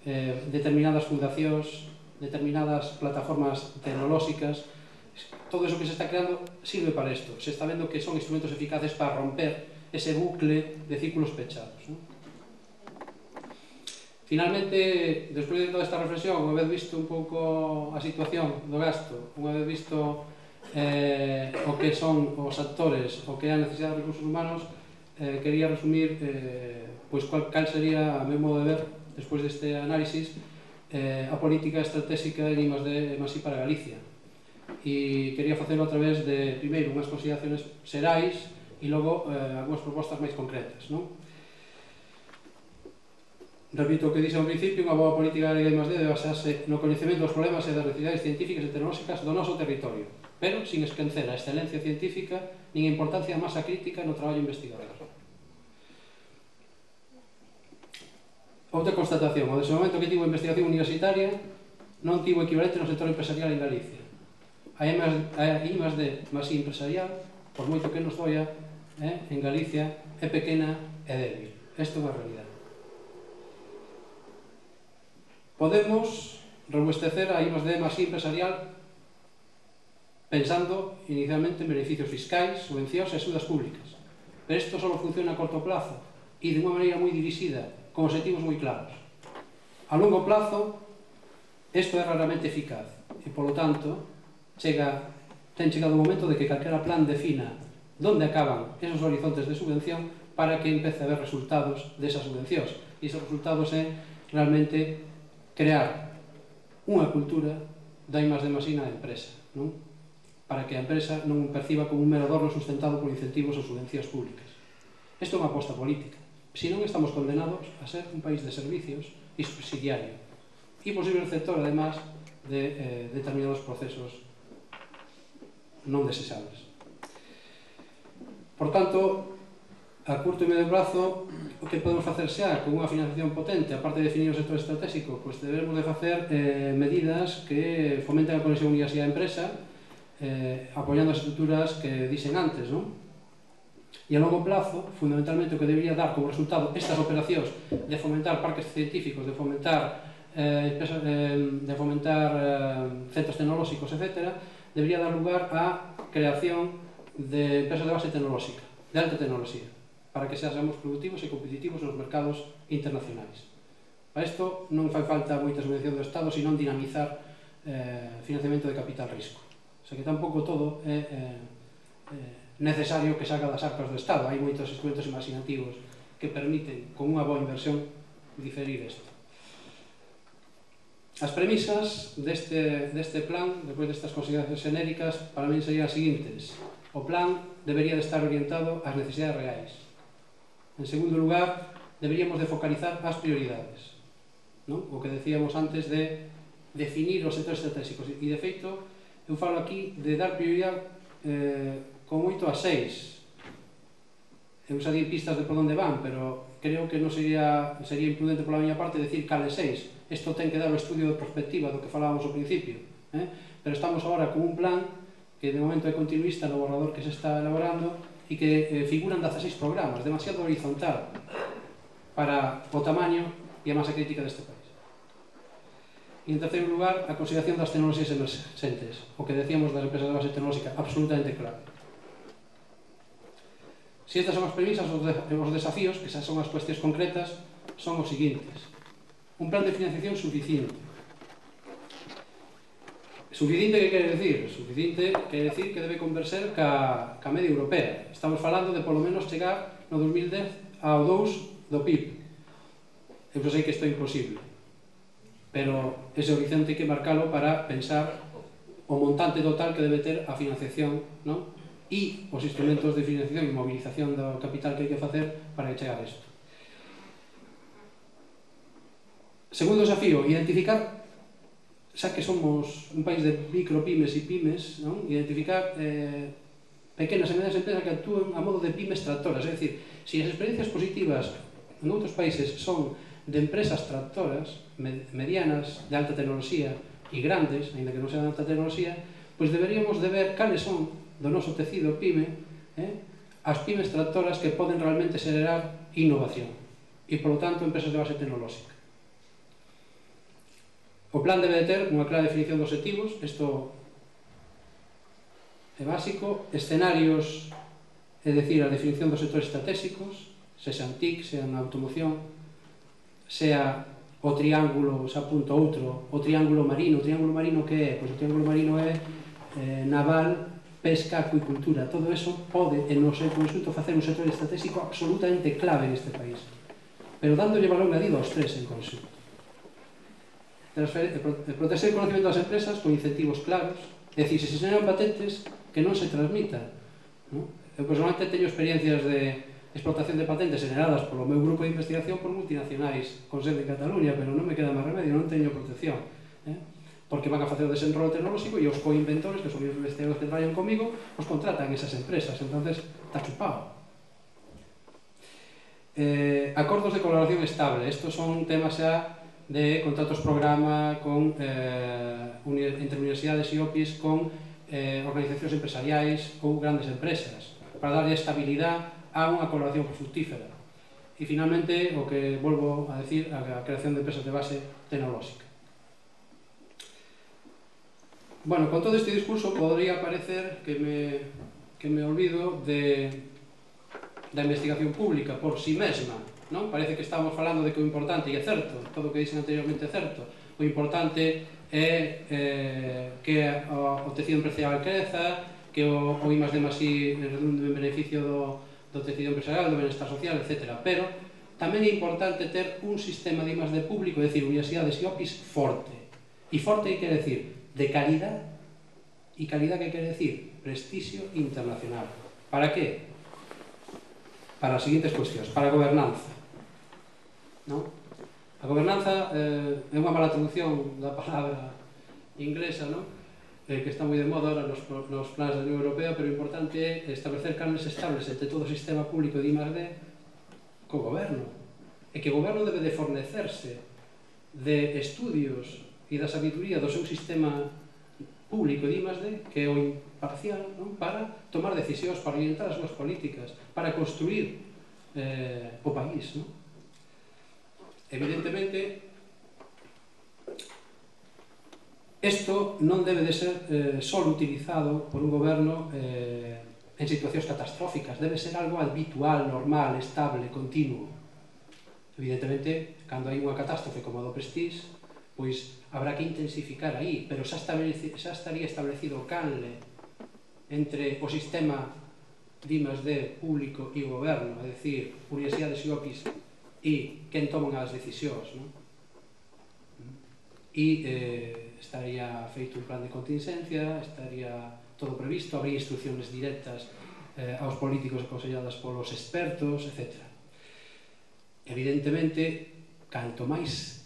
eh, determinadas fundacións, determinadas plataformas tecnolóxicas. Todo eso que se está creando sirve para isto. Se está vendo que son instrumentos eficaces para romper ese bucle de círculos pechados. ¿No? Finalmente, despois de toda esta reflexión, unha vez visto un pouco a situación do gasto, unha vez visto eh, o que son os actores, o que é a necesidade de recursos humanos, eh, quería resumir eh, pois cal, cal sería, a meu modo de ver, despois deste análisis, eh, a política estratégica en I más D máis I para Galicia. E quería facelo a través de, primeiro, unhas consideraciones xerais e logo eh, algunhas propostas máis concretas, non? Repito o que dixo ao principio, unha boa política galega I más D debe basarse no coñecemento dos problemas e das necesidades científicas e tecnolóxicas do noso territorio, pero sin esquecer a excelencia científica nin a importancia da masa crítica no traballo investigador. Outra constatación, o desenvolvemento que tivo a investigación universitaria non tivo equivalente no sector empresarial en Galicia. A I más D máis I empresarial, por moito que nos doia, eh, en Galicia é pequena e débil. Isto é unha realidade. Podemos robustecer a I más D máis I empresarial pensando inicialmente en beneficios fiscais, subvencións e axudas públicas. Pero isto só funciona a corto plazo e de unha maneira moi dirixida, con objetivos moi claros. A longo plazo, isto é raramente eficaz e, polo tanto, chega, ten chegado o momento de que calquera plan defina onde acaban esos horizontes de subvención para que empece a haber resultados desas subvencións. E esos resultados é realmente crear unha cultura da I más D máis I na empresa, non? Para que a empresa non perciba como un mero adorno sustentado por incentivos ou subvencións públicas. Isto é unha aposta política. Se non, estamos condenados a ser un país de servicios e subsidiario e posible receptor, además, de eh, determinados procesos non deseables. Por tanto, a curto e medio prazo, o que podemos facer xa con unha financiación potente, aparte de definir o sector estratégico, pois debemos de facer eh, medidas que fomenten a conexión universidade-empresa, eh, apoiando as estruturas que dixen antes, non? E a longo plazo, fundamentalmente, o que debería dar como resultado estas operacións de fomentar parques científicos, de fomentar, eh, de fomentar eh, centros tecnolóxicos, etcétera, debería dar lugar á creación de empresas de base tecnolóxica, de alta tecnoloxía, para que seamos productivos e competitivos nos mercados internacionais. Para isto non fai falta moita subvención do Estado, senón dinamizar eh, financiamento de capital risco. O sea que tampouco todo é eh, eh, necesario que saca das arcas do Estado. Hai moitos instrumentos imaginativos que permiten, con unha boa inversión, diferir isto. As premisas deste, deste plan, depois destas consideracións xenéricas, para mí serían as seguintes. O plan debería de estar orientado ás necesidades reais. En segundo lugar, deberíamos de focalizar as prioridades, non? O que decíamos antes de definir os sectores estratégicos. E, de feito, eu falo aquí de dar prioridade eh, con moito a seis. Eu xa di pistas de por onde van, pero creo que non sería, sería imprudente pola miña parte decir cales seis. Isto ten que dar o estudio de perspectiva do que falábamos ao principio. Eh? Pero estamos agora con un plan que de momento é continuista no borrador que se está elaborando e que eh, figuran dezaseis programas, demasiado horizontal para o tamaño e a masa crítica deste país. E, en terceiro lugar, a consideración das tecnoloxías emergentes, o que decíamos das empresas de base tecnolóxica, absolutamente claro. Se estas son as premisas, os desafíos, que xa son as cuestións concretas, son os seguintes. Un plan de financiación suficiente. Suficiente, que quere decir? Suficiente quere decir que debe converser ca, ca media europea. Estamos falando de polo menos chegar no dos mil dez ao dous do P I B. Eu sei que isto é imposible, pero ese horizonte hai que marcalo para pensar o montante total que debe ter a financiación, non? E os instrumentos de financiación e mobilización do capital que hai que facer para chegar a isto. Segundo desafío, identificar, xa que somos un país de micropymes e pymes, non? Identificar eh, pequenas e medianas empresas que actúen a modo de pymes tractoras, é dicir, se as experiencias positivas en outros países son de empresas tractoras, medianas, de alta tecnoloxía e grandes, ainda que non sean de alta tecnoloxía, pois deberíamos de ver cales son do noso tecido pyme, eh, as pymes tractoras que poden realmente xerar innovación e, polo tanto, empresas de base tecnolóxica. O plan debe de ter unha clara definición de objetivos, isto é básico, escenarios, é dicir, a definición dos sectores estratégicos, sexan T I C, sean automoción, sea o triángulo, xa apunto outro, o triángulo marino. O triángulo marino que é? Pois o triángulo marino é eh, naval, pesca, acuicultura, todo eso pode, en o seu conxunto, facer un sector estratégico absolutamente clave neste país. Pero dándolle valor engadido aos tres en conxunto. Proteger o conocimiento das empresas con incentivos claros, é dicir, se se xeran patentes que non se transmitan. Eu personalmente teño experiencias de explotación de patentes generadas polo meu grupo de investigación por multinacionais con sede en Cataluña, pero non me queda máis remedio, non teño protección. Porque van a facer o desenrolo tecnolóxico e os coinventores, que son os investigadores que traballan comigo, os contratan esas empresas, entonces está chupado. Eh, acordos de colaboración estable, estos son temas xa de contratos programa con, eh, entre universidades e O P Is con eh, organizacións empresariais ou grandes empresas, para darle estabilidade a unha colaboración fructífera. E finalmente, o que volvo a decir, a creación de empresas de base tecnolóxica. Bueno, con todo este discurso podría parecer que me, que me olvido de, da investigación pública por si mesma, non? Parece que estamos falando de que o importante, e é certo, todo o que dixen anteriormente é certo, o importante é eh, que o, o tecido empresarial creza, que o, o I más D más I redunde en beneficio do, do tecido empresarial, do benestar social, etcétera. Pero tamén é importante ter un sistema de I más D público, é dicir, universidades e O P Is forte. E forte quere decir de calidad, e calidad que quere decir prestigio internacional. Para qué? Para as seguintes cuestións. Para a gobernanza. ¿No? A gobernanza eh, é unha mala traducción da palabra inglesa, ¿no? eh, que está moi de moda ahora nos, nos planes da Unión Europea, pero o importante é establecer canales estables entre todo o sistema público de I más D co goberno. E que o goberno debe de fornecerse de estudios e da sabiduría do seu sistema público de I más D, que é o imparcial, non? Para tomar decisións, para orientar as súas políticas, para construir eh, o país. Non? Evidentemente, isto non debe de ser eh, só utilizado por un goberno eh, en situacións catastróficas, debe ser algo habitual, normal, estable, continuo. Evidentemente, cando hai unha catástrofe como a do Prestige, pois habrá que intensificar aí, pero xa, xa estaría establecido o canle entre o sistema de I más D público e o goberno, é dicir, universidades e O P Is, e quen toman as decisións, non? E eh, estaría feito un plan de contingencia, estaría todo previsto, habría instrucciones directas eh, aos políticos aconselladas polos expertos, etcétera. Evidentemente, canto máis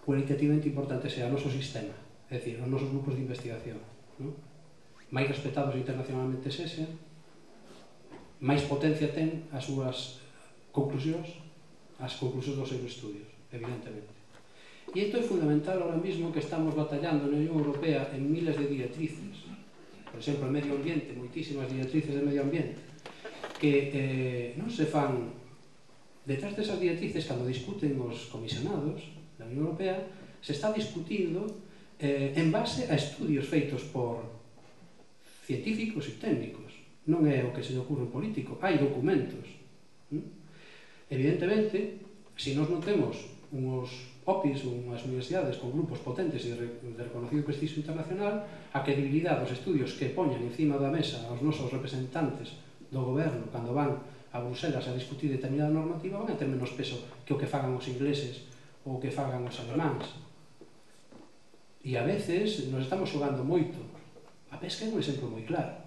cualitativamente importante sea o noso sistema, é dicir, os nosos grupos de investigación, non? Máis respetados internacionalmente sexen, máis potencia ten as súas conclusións, as conclusións dos seus estudios, evidentemente. E isto é fundamental ahora mismo que estamos batallando na Unión Europea en miles de directrices, por exemplo, en medio ambiente, moitísimas directrices de medio ambiente, que eh, non se fan detrás desas directrices, cando discuten os comisionados da Unión Europea, se está discutindo eh, en base a estudios feitos por científicos e técnicos. Non é o que se lle ocurre un político, hai documentos. ¿Mm? Evidentemente, se nós non temos uns O P Is, unhas universidades con grupos potentes e de reconocido prestigio internacional, a credibilidade dos estudios que poñan encima da mesa aos nosos representantes do goberno cando van a Bruselas a discutir determinada normativa van a ter menos peso que o que fagan os ingleses ou que fagan os alemáns. E a veces nos estamos xogando moito. A pesca é un exemplo moi claro,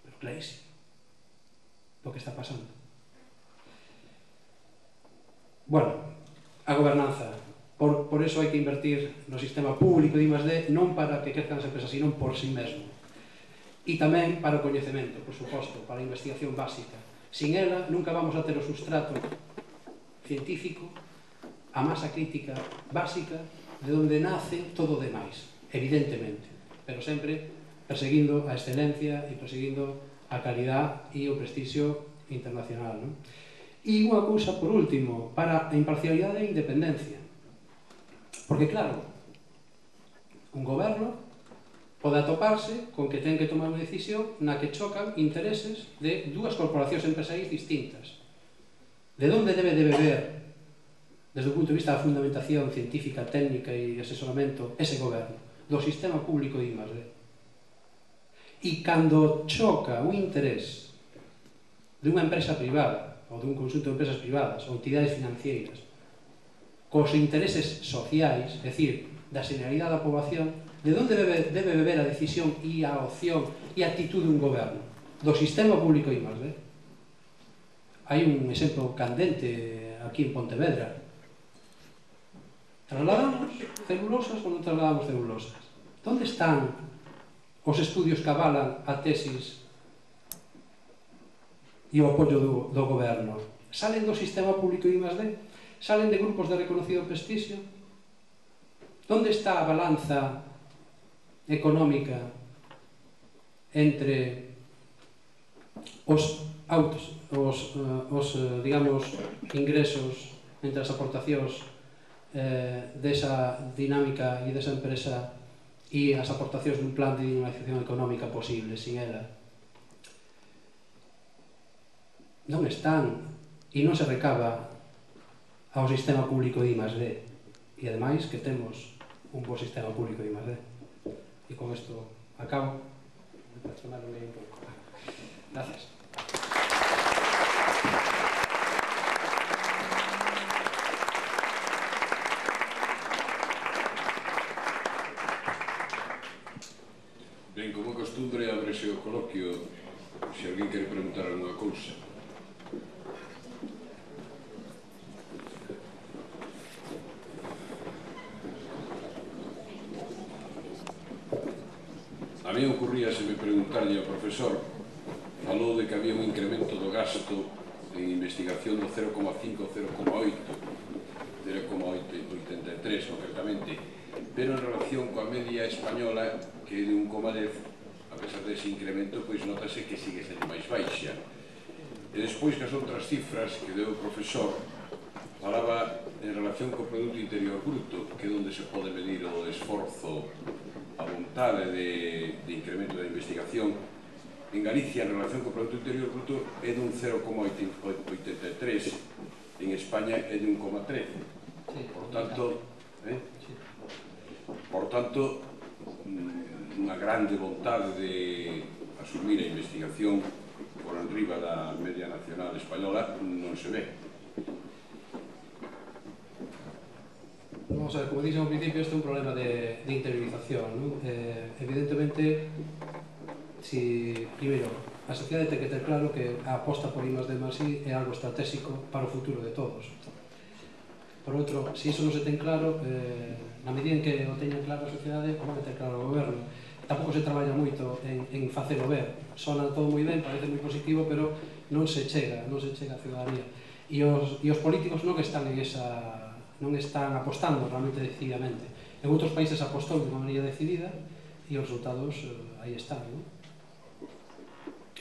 pero clarísimo, do que está pasando. Bueno, a gobernanza. Por, por eso hai que invertir no sistema público de I más D, non para que crezcan as empresas, sino por si mesmo. E tamén para o coñecemento, por suposto, para a investigación básica. Sin ela, nunca vamos a ter o sustrato científico, a masa crítica básica de onde nace todo o demais, evidentemente, pero sempre perseguindo a excelencia e perseguindo a calidad e o prestixio internacional. Non? E unha cousa, por último, para a imparcialidade e a independencia. Porque, claro, un goberno pode atoparse con que ten que tomar unha decisión na que chocan intereses de dúas corporacións empresariais distintas. De onde debe de beber, desde o punto de vista da fundamentación científica, técnica e asesoramento, ese goberno? Do sistema público de I más D. E cando choca un interés dunha empresa privada ou dun conxunto de empresas privadas ou entidades financieras cos intereses sociais, é dicir, da generalidade da poboación, de onde debe, debe beber a decisión e a opción e a actitude dun goberno? Do sistema público I más D. Hai un exemplo candente aquí en Pontevedra. Trasladamos celulosas ou non trasladamos celulosas? Onde están os estudios que avalan a tesis e o apoio do, do goberno? Salen do sistema público I más D? Salen de grupos de reconocido prestixio? Onde está a balanza económica entre os autos, os, os digamos, ingresos, entre as aportacións eh, desa dinámica e desa empresa e as aportacións dun plan de dinamización económica posible sin ela? Non están e non se recaba ao sistema público de I más D. E ademais que temos un bo sistema público de I más D. E con isto acabo. Gracias. Ben, como costumbre, ábrese o coloquio se alguén quere preguntar alguna cousa. A mí ocurríaseme preguntarlle ao profesor, falou de que había un incremento do gasto en investigación do cero coma cinco a cero coma oito, cero coma oitenta e tres concretamente, pero en relación coa media española, que é de un coma dez, a pesar dese incremento, pois notase que sigue sendo máis baixa. E despois que as outras cifras que deu o profesor falaba en relación co Produto Interior Bruto, que é onde se pode medir o esforzo, a vontade de, de incremento da investigación. En Galicia, en relación co Produto Interior Bruto, é dun cero coma oitenta e tres, en España é de un coma trece. Por tanto, eh? por tanto, unha grande vontade de asumir a investigación por enriba da media nacional española non se ve. Vamos a ver, como dixen ao principio, este é un problema de, de interiorización, ¿no? Eh, evidentemente, si, primeiro, a sociedade ten que ter claro que a aposta por I más D más I é algo estratégico para o futuro de todos. Por outro, se iso non se ten claro, eh, na medida en que o teña claro a sociedade, o van a ter claro o goberno. Tampouco se traballa moito en, en facelo ver. Sona todo moi ben, parece moi positivo, pero non se chega, non se chega a ciudadanía. E os, e os políticos non están en esa... non están apostando realmente decididamente. En outros países apostou de unha maneira decidida e os resultados eh, aí están, non?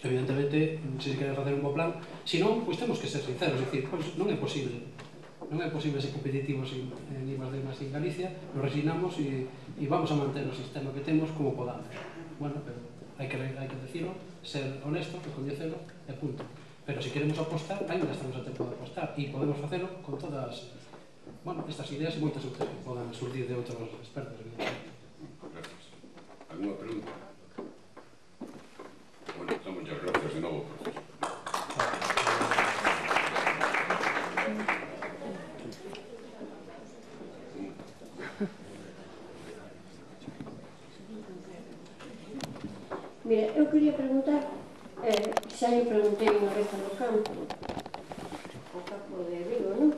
Evidentemente, se se quere facer un bo plan, se non, pois temos que ser sinceros, é dicir, pois non é posible non é posible ser competitivos en, en I más D más en Galicia, nos resignamos e, e vamos a manter o sistema que temos como podamos. Bueno, pero hai que, hai que decirlo, ser honesto, recoñecelo e punto. Pero se queremos apostar, ainda estamos a tempo de apostar e podemos facelo con todas bueno, estas ideas e moitas outras que podan surdir de outros expertos. Gracias. Alguna pregunta? Bueno, estamos ya gracias de novo, profesor. Mira, eu quería preguntar, eh, xa me preguntei unha vez no campo, o campo de Vigo, non?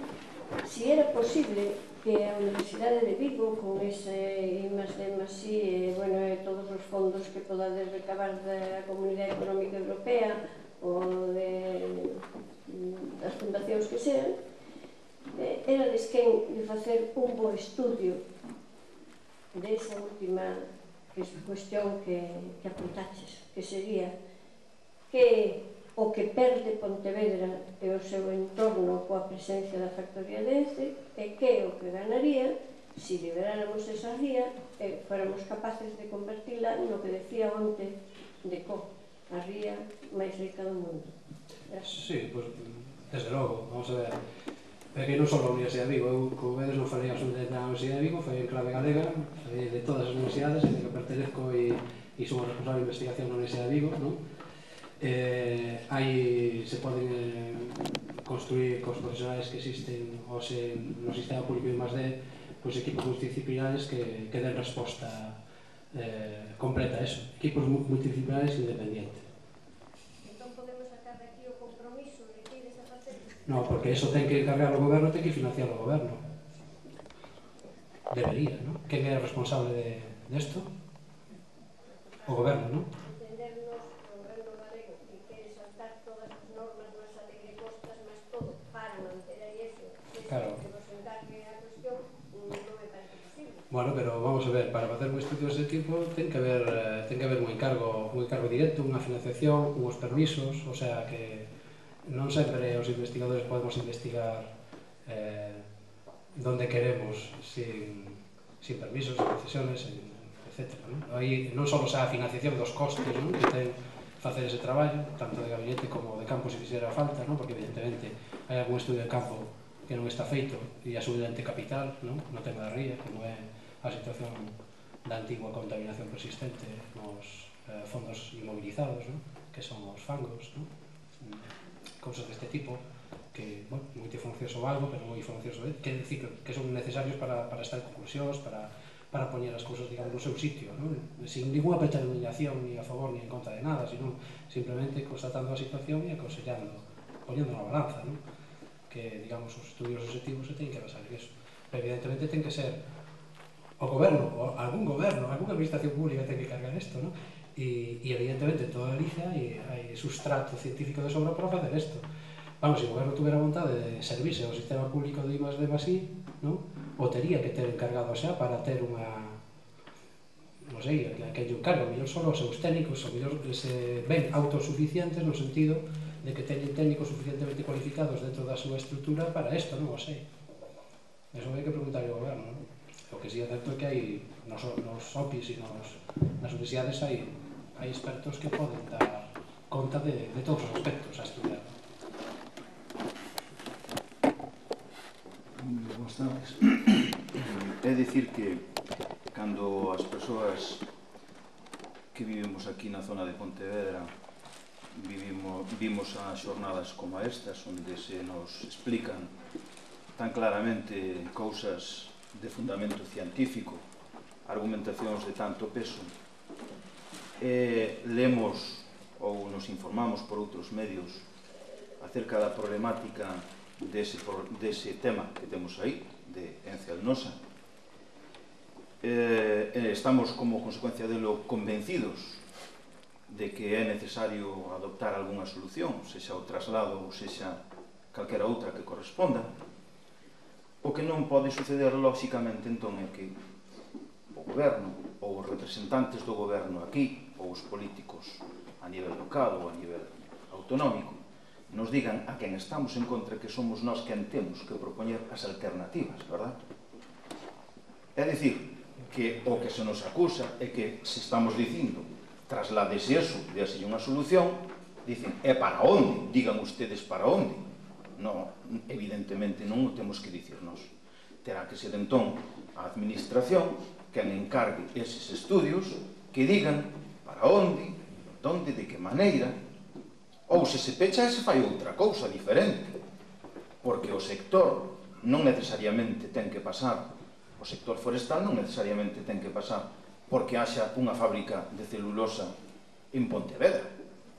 Si era posible que a Universidade de Vigo, con ese I más D más I, e, bueno, e todos os fondos que podades recabar da Comunidade Económica Europea ou de, das fundacións que sean, eh, erades quen de facer un bo estudio desa última cuestión que, que apuntaches, que sería que o que perde Pontevedra e o seu entorno coa presencia da factoría de Ence e que o que ganaría se liberáramos esa ría e fóramos capaces de convertila no que decía onte de Co, a ría máis rica do mundo. Gracias. Sí, pois, desde logo, vamos a ver. É que non só a Universidade de Vigo, eu, como vedes, non falei absolutamente da Universidade de Vigo, foi en clave galega, falei de todas as universidades, en que pertenezco e, e son o responsable de investigación na Universidade de Vigo, non? Eh, hai, se poden eh, construir cos profesionais que existen hoxe no sistema público de I más D, pois equipos multidisciplinares que, que den resposta eh, completa a eso, equipos multidisciplinares independientes. Entón podemos sacar de aquí o compromiso de que ides a facer? No, porque eso ten que encargar o goberno, ten que financiar o goberno. Debería, non? Quen é o responsable de, de esto? O goberno, non? Entendernos o goberno galego que quere saltar todas as normas máis a lei de costas, máis todo, para manter aí eso, Claro. que nos encargue a cuestión, non me parece posible. Bueno, pero vamos a ver, para facer un estudio dese tipo ten que haber, eh, ten que haber un encargo, un encargo directo, unha financiación, uns permisos, o sea que non sempre os investigadores podemos investigar eh, donde queremos sin, sin permisos, sin concesiones, etcétera. Non? Aí non só xa a financiación dos costes, non? Que ten facer ese traballo, tanto de gabinete como de campo se fixera falta, non? Porque evidentemente hai algún estudio de campo que non está feito e a subidente capital, non? No tema da ría, como é a situación da antigua contaminación persistente nos eh, fondos inmovilizados, non? Que son os fangos, non? Cousas deste tipo que, bueno, multifuncioso algo, pero moi funcioso, eh? Que decir que son necesarios para, para estar en conclusións, para, para poñer as cousas, digamos, no seu sitio, non? Sin ninguna predeterminación ni a favor ni en contra de nada, sino simplemente constatando a situación e aconsellando, poñendo na balanza, non? Que, digamos, os estudios objetivos se teñen que basar en eso. Pero evidentemente ten que ser o goberno, ou algún goberno, algunha administración pública ten que cargar isto, non? E, e evidentemente toda Galicia hai, hai sustrato científico de sobra para facer isto. Vamos, se o goberno tuvera vontade de servirse ao sistema público de I más D más I, non? O tería que ter encargado xa para ter unha, non sei, que lle encarga, o mellor só os seus técnicos, o mellor se ven autosuficientes no sentido de que teñen técnicos suficientemente cualificados dentro da súa estrutura para isto, non o sei. Eso hai que preguntar ao goberno, non? O que sí é certo é que hai nos, nos O P I s e nos, nas universidades hai, hai expertos que poden dar conta de, de todos os aspectos a estudiar. Boas tardes. É dicir que cando as persoas que vivimos aquí na zona de Pontevedra vivimos, vimos as xornadas como estas onde se nos explican tan claramente cousas de fundamento científico, argumentacións de tanto peso, e lemos ou nos informamos por outros medios acerca da problemática dese, dese tema que temos aí, de Ence Alnosa. Eh, estamos, como consecuencia delo, convencidos de que é necesario adoptar algunha solución, sexa o traslado ou sexa calquera outra que corresponda. O que non pode suceder, lóxicamente, entón, é que o goberno, ou os representantes do goberno aquí, ou os políticos a nivel local ou a nivel autonómico, nos digan a quen estamos en contra que somos nós quen temos que propoñer as alternativas, verdad? É dicir, que o que se nos acusa é que se estamos dicindo trasládese eso, déaselle unha solución, dicen, é para onde? Digan ustedes para onde? No, evidentemente non o temos que dicir nós. Terá que ser entón a administración quen encargue eses estudios que digan para onde, onde, de que maneira, ou se se pecha se fai outra cousa diferente, porque o sector non necesariamente ten que pasar, o sector forestal non necesariamente ten que pasar porque haxa unha fábrica de celulosa en Pontevedra.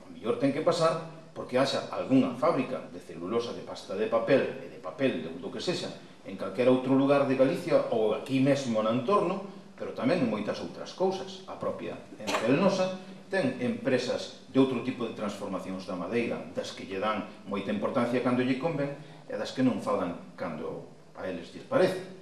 O mellor ten que pasar porque haxa algunha fábrica de celulosa de pasta de papel e de papel de do que sexa en calquera outro lugar de Galicia ou aquí mesmo no entorno, pero tamén en moitas outras cousas. A propia Ence Alnosa ten empresas de outro tipo de transformacións da madeira, das que lle dan moita importancia cando lle conven e das que non falan cando a eles lles parece.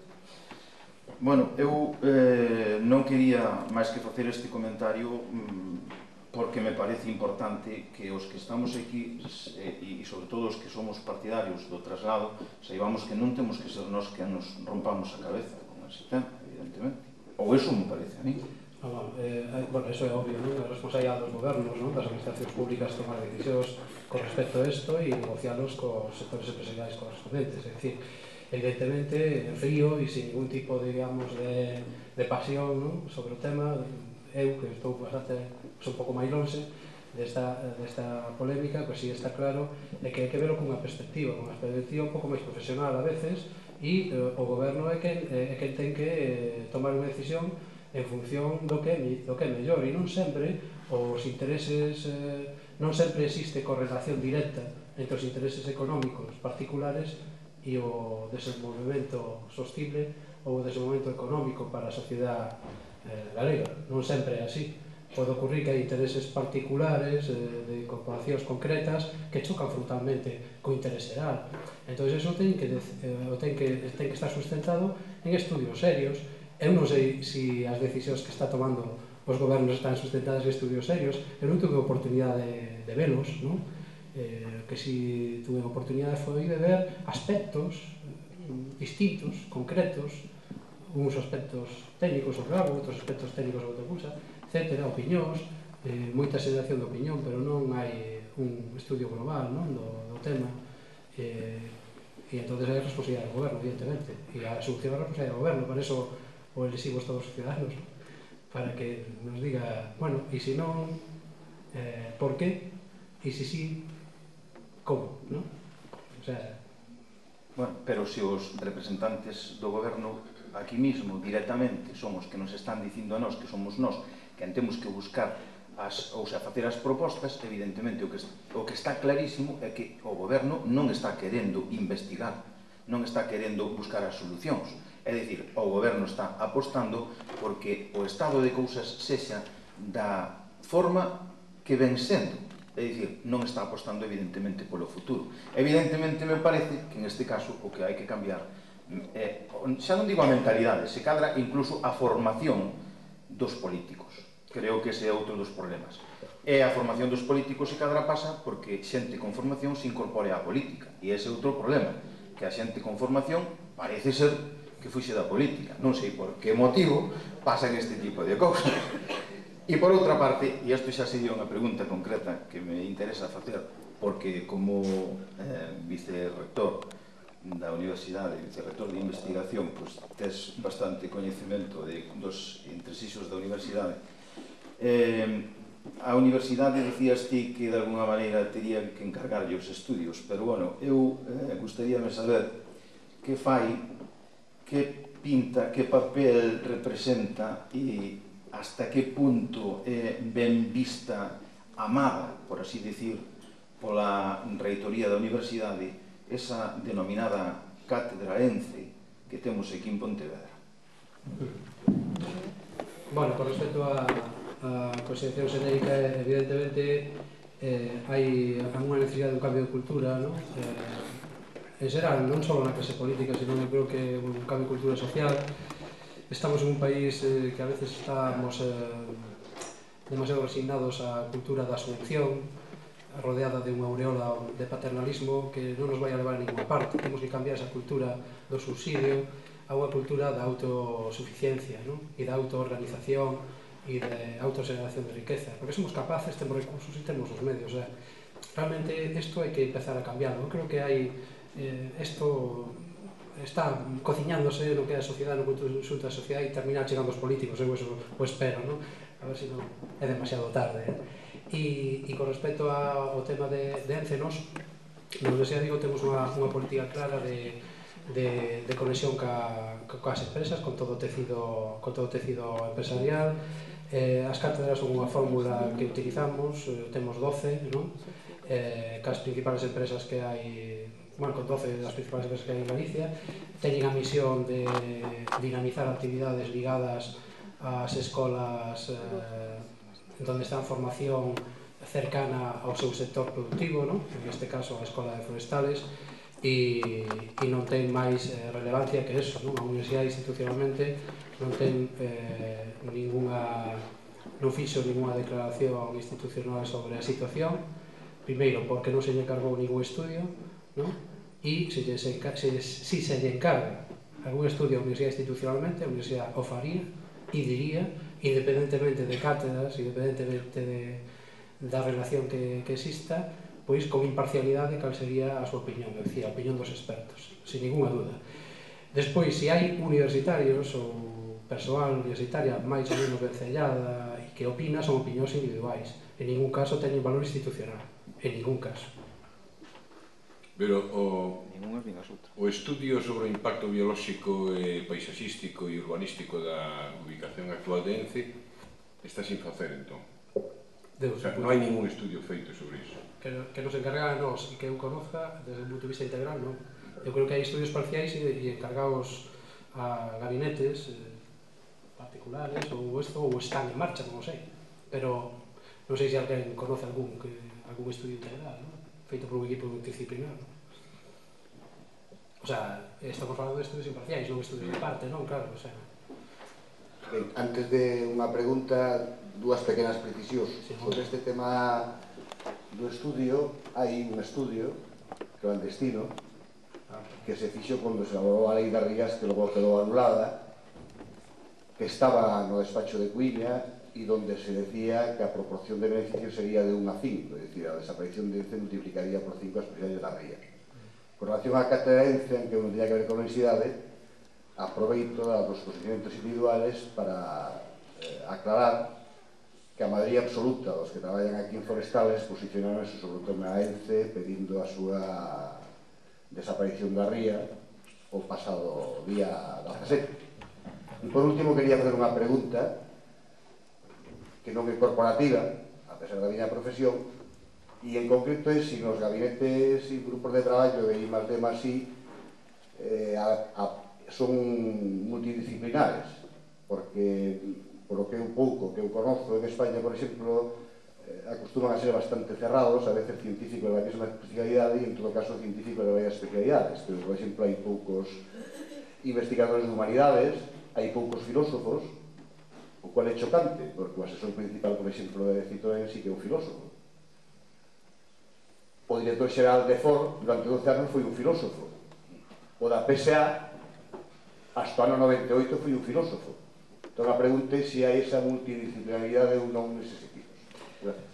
Bueno, eu eh, non quería máis que facer este comentario mmm, porque me parece importante que os que estamos aquí e, e sobre todo os que somos partidarios do traslado saibamos que non temos que ser nós que nos rompamos a cabeza con ese tema, evidentemente. Ou eso me parece a mí. No, no, eh, bueno, eso é obvio, non? A responsabilidade dos gobernos, non? Das administracións públicas tomar decisións con respecto a isto e negocialos cos sectores empresariais correspondentes. É dicir, evidentemente, en frío e sin ningún tipo, digamos, de, de pasión, non? Sobre o tema, eu, que estou bastante, un pouco máis longe desta, desta polémica, pois si está claro é que hai que verlo con unha perspectiva, con unha perspectiva un pouco máis profesional a veces, e eh, o goberno é quen, é quen ten que eh, tomar unha decisión en función do que, do que é mellor, e non sempre os intereses, eh, non sempre existe correlación directa entre os intereses económicos particulares e o desenvolvemento sostible ou o desenvolvemento económico para a sociedade eh, galega. Non sempre é así. Pode ocurrir que hai intereses particulares eh, de corporacións concretas que chocan frontalmente co interés xeral. Entón, iso ten que, eh, ten, que, ten que estar sustentado en estudios serios. Eu non sei se as decisións que está tomando os gobernos están sustentadas en estudios serios. Eu non tuve oportunidade de, de velos, non? Eh, que si tuve oportunidade foi de ver aspectos distintos, concretos, uns aspectos técnicos sobre algo, outros aspectos técnicos sobre outra cousa, etcétera, opinións, eh, moita xeración de opinión, pero non hai un estudio global, non, do, do tema, eh, e entón hai responsabilidade do goberno, evidentemente, e a solución é a responsabilidade do goberno, por eso o eliximos todos os ciudadanos, para que nos diga, bueno, e se non, eh, por qué, e se sí, como, non? O sea... Bueno, pero se os representantes do goberno aquí mismo, directamente, son os que nos están dicindo a nós que somos nós que temos que buscar as, ou sea, facer as propostas, evidentemente o que, o que está clarísimo é que o goberno non está querendo investigar, non está querendo buscar as solucións. É dicir, o goberno está apostando porque o estado de cousas sexa da forma que ven sendo. É dicir, non está apostando evidentemente polo futuro. Evidentemente me parece que en este caso o que hai que cambiar é, xa non digo a mentalidade, se cadra incluso a formación dos políticos. Creo que ese é outro dos problemas. E a formación dos políticos se cadra pasa porque xente con formación se incorpore á política. E ese é outro problema, que a xente con formación parece ser que fuxe da política. Non sei por que motivo pasan este tipo de cousas. E por outra parte, e isto xa sería unha pregunta concreta que me interesa facer, porque como eh, vicerrector da Universidade, vicerrector de investigación, pois tes bastante coñecemento de, dos entresixos da Universidade. Eh, a Universidade dicías ti que de alguna maneira terían que encargarlle os estudios, pero bueno, eu eh, gustaríame saber que fai, que pinta, que papel representa e hasta que punto é ben vista, amada, por así decir, pola reitoría da Universidade, esa denominada Cátedra ENCE que temos aquí en Pontevedra. Bueno, con respecto a, a consideración xenérica, evidentemente eh, hai unha necesidade de un cambio de cultura, ¿no? Eh, en xeral, non só na clase política, sino eu creo que un cambio de cultura social. Estamos en un país eh, que a veces estamos eh, demasiado resignados á cultura da asunción, rodeada de unha aureola de paternalismo que non nos vai a levar a ninguna parte. Temos que cambiar esa cultura do subsidio a unha cultura da autosuficiencia, ¿no? E da autoorganización e de autogeneración de riqueza, porque somos capaces, temos recursos e temos os medios. Eh. Realmente isto hai que empezar a cambiarlo. Eu creo que hai eh, isto está cociñándose no que é a sociedade, no conjunto da sociedade, e terminar chegando os políticos, eu eso o espero, non? A ver se non é demasiado tarde. Eh? E, e con respecto ao tema de, de ENCE, nos, nos desea, digo, temos unha, unha política clara de, de, de conexión ca, ca, cas empresas, con todo o tecido, con todo o tecido empresarial. Eh, as cátedras son unha fórmula que utilizamos, eh, temos doce, non? Eh, cas principales empresas que hai, bueno, con doce das principales empresas que hai en Galicia, teñen a misión de dinamizar actividades ligadas ás escolas eh, onde está a formación cercana ao seu sector productivo, ¿no? En este caso a Escola de Forestales, e, e non ten máis eh, relevancia que eso, ¿no? A universidade institucionalmente non ten eh, ninguna, non fixo ninguna declaración institucional sobre a situación, primeiro porque non se lle encargou ningún estudio, ¿no? E se, se, se, si se lle encarga algún estudio a universidade institucionalmente, a universidade o faría e diría, independentemente de cátedras, independentemente de, da relación que, que exista, pois con imparcialidade cal sería a súa opinión, é dicir, a opinión dos expertos, sin ninguna duda. Despois, se hai universitarios ou persoal universitaria máis ou menos vencellada e que opina son opinións individuais. En ningún caso teñen valor institucional. En ningún caso. Pero o, o estudio sobre o impacto biolóxico e paisaxístico e urbanístico da ubicación actual de Ence está sin facer, entón. Deus, o sea, non hai ningún estudio feito sobre iso. Que, que nos encarga a nós e que eu conozca desde o punto de vista integral, non? Eu creo que hai estudios parciais e, e encargados a gabinetes eh, particulares ou isto, ou están en marcha, non sei. Pero non sei se alguén conoce algún, que, algún estudio integral, non? Feito por un equipo multidisciplinar, non? O sea, estamos falando de estudios imparciais, non estudios de parte, non? Claro, o sea... Ben, antes de unha pregunta, dúas pequenas precisións. Sí, sobre este tema do estudio, hai un estudio clandestino que se fixo cando se elaborou a lei das rías, que logo quedou anulada, que estaba no despacho de Cuiña e donde se decía que a proporción de beneficios sería de un a cinco, es decir, a desaparición de Ence multiplicaría por cinco as posibilidades da ría. Con relación á cátedra de Ence, aunque non tenía que ver con a universidade, aproveito dos posicionamentos individuales para eh, aclarar que a maioría absoluta dos que traballan aquí en Forestales posicionaronse sobre o tema Ence pedindo a súa desaparición da ría o pasado día dezasete. E por último, quería facer unha pregunta que non é corporativa, a pesar da miña profesión, e en concreto é se nos gabinetes e grupos de traballo de I más D más I eh, a, a, son multidisciplinares, porque por o que un pouco que eu conozco en España, por exemplo, eh, acostuman a ser bastante cerrados, a veces científicos da mesma especialidade e en todo caso científicos de varias especialidades. Pero, por exemplo, hai poucos investigadores de humanidades, hai poucos filósofos, o cual é chocante, porque o asesor principal, por exemplo, de Citroën sí que é un filósofo. O director xeral de Ford durante doce anos foi un filósofo. O da P S A hasta o ano noventa e oito foi un filósofo. Entón a pregunta é se hai esa multidisciplinaridade ou non neses equipos. Gracias.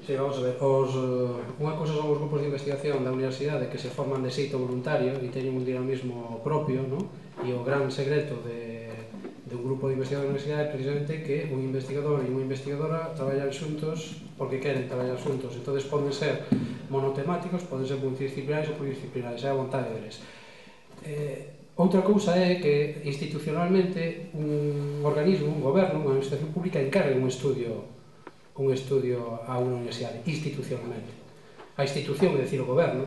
Sí, vamos a ver, os, uh, unha cousa son os grupos de investigación da universidade que se forman de xeito voluntario e teñen un dinamismo propio, ¿no? E o gran secreto de, de un grupo de investigadores da universidade é precisamente que un investigador e unha investigadora traballan xuntos porque queren traballar xuntos. Entón, poden ser monotemáticos, poden ser multidisciplinares ou pluridisciplinares, é a vontade deles. Eh, outra cousa é que institucionalmente un organismo, un goberno, unha administración pública encargue un estudio un estudio a unha universidade, institucionalmente. A institución, é dicir, o goberno,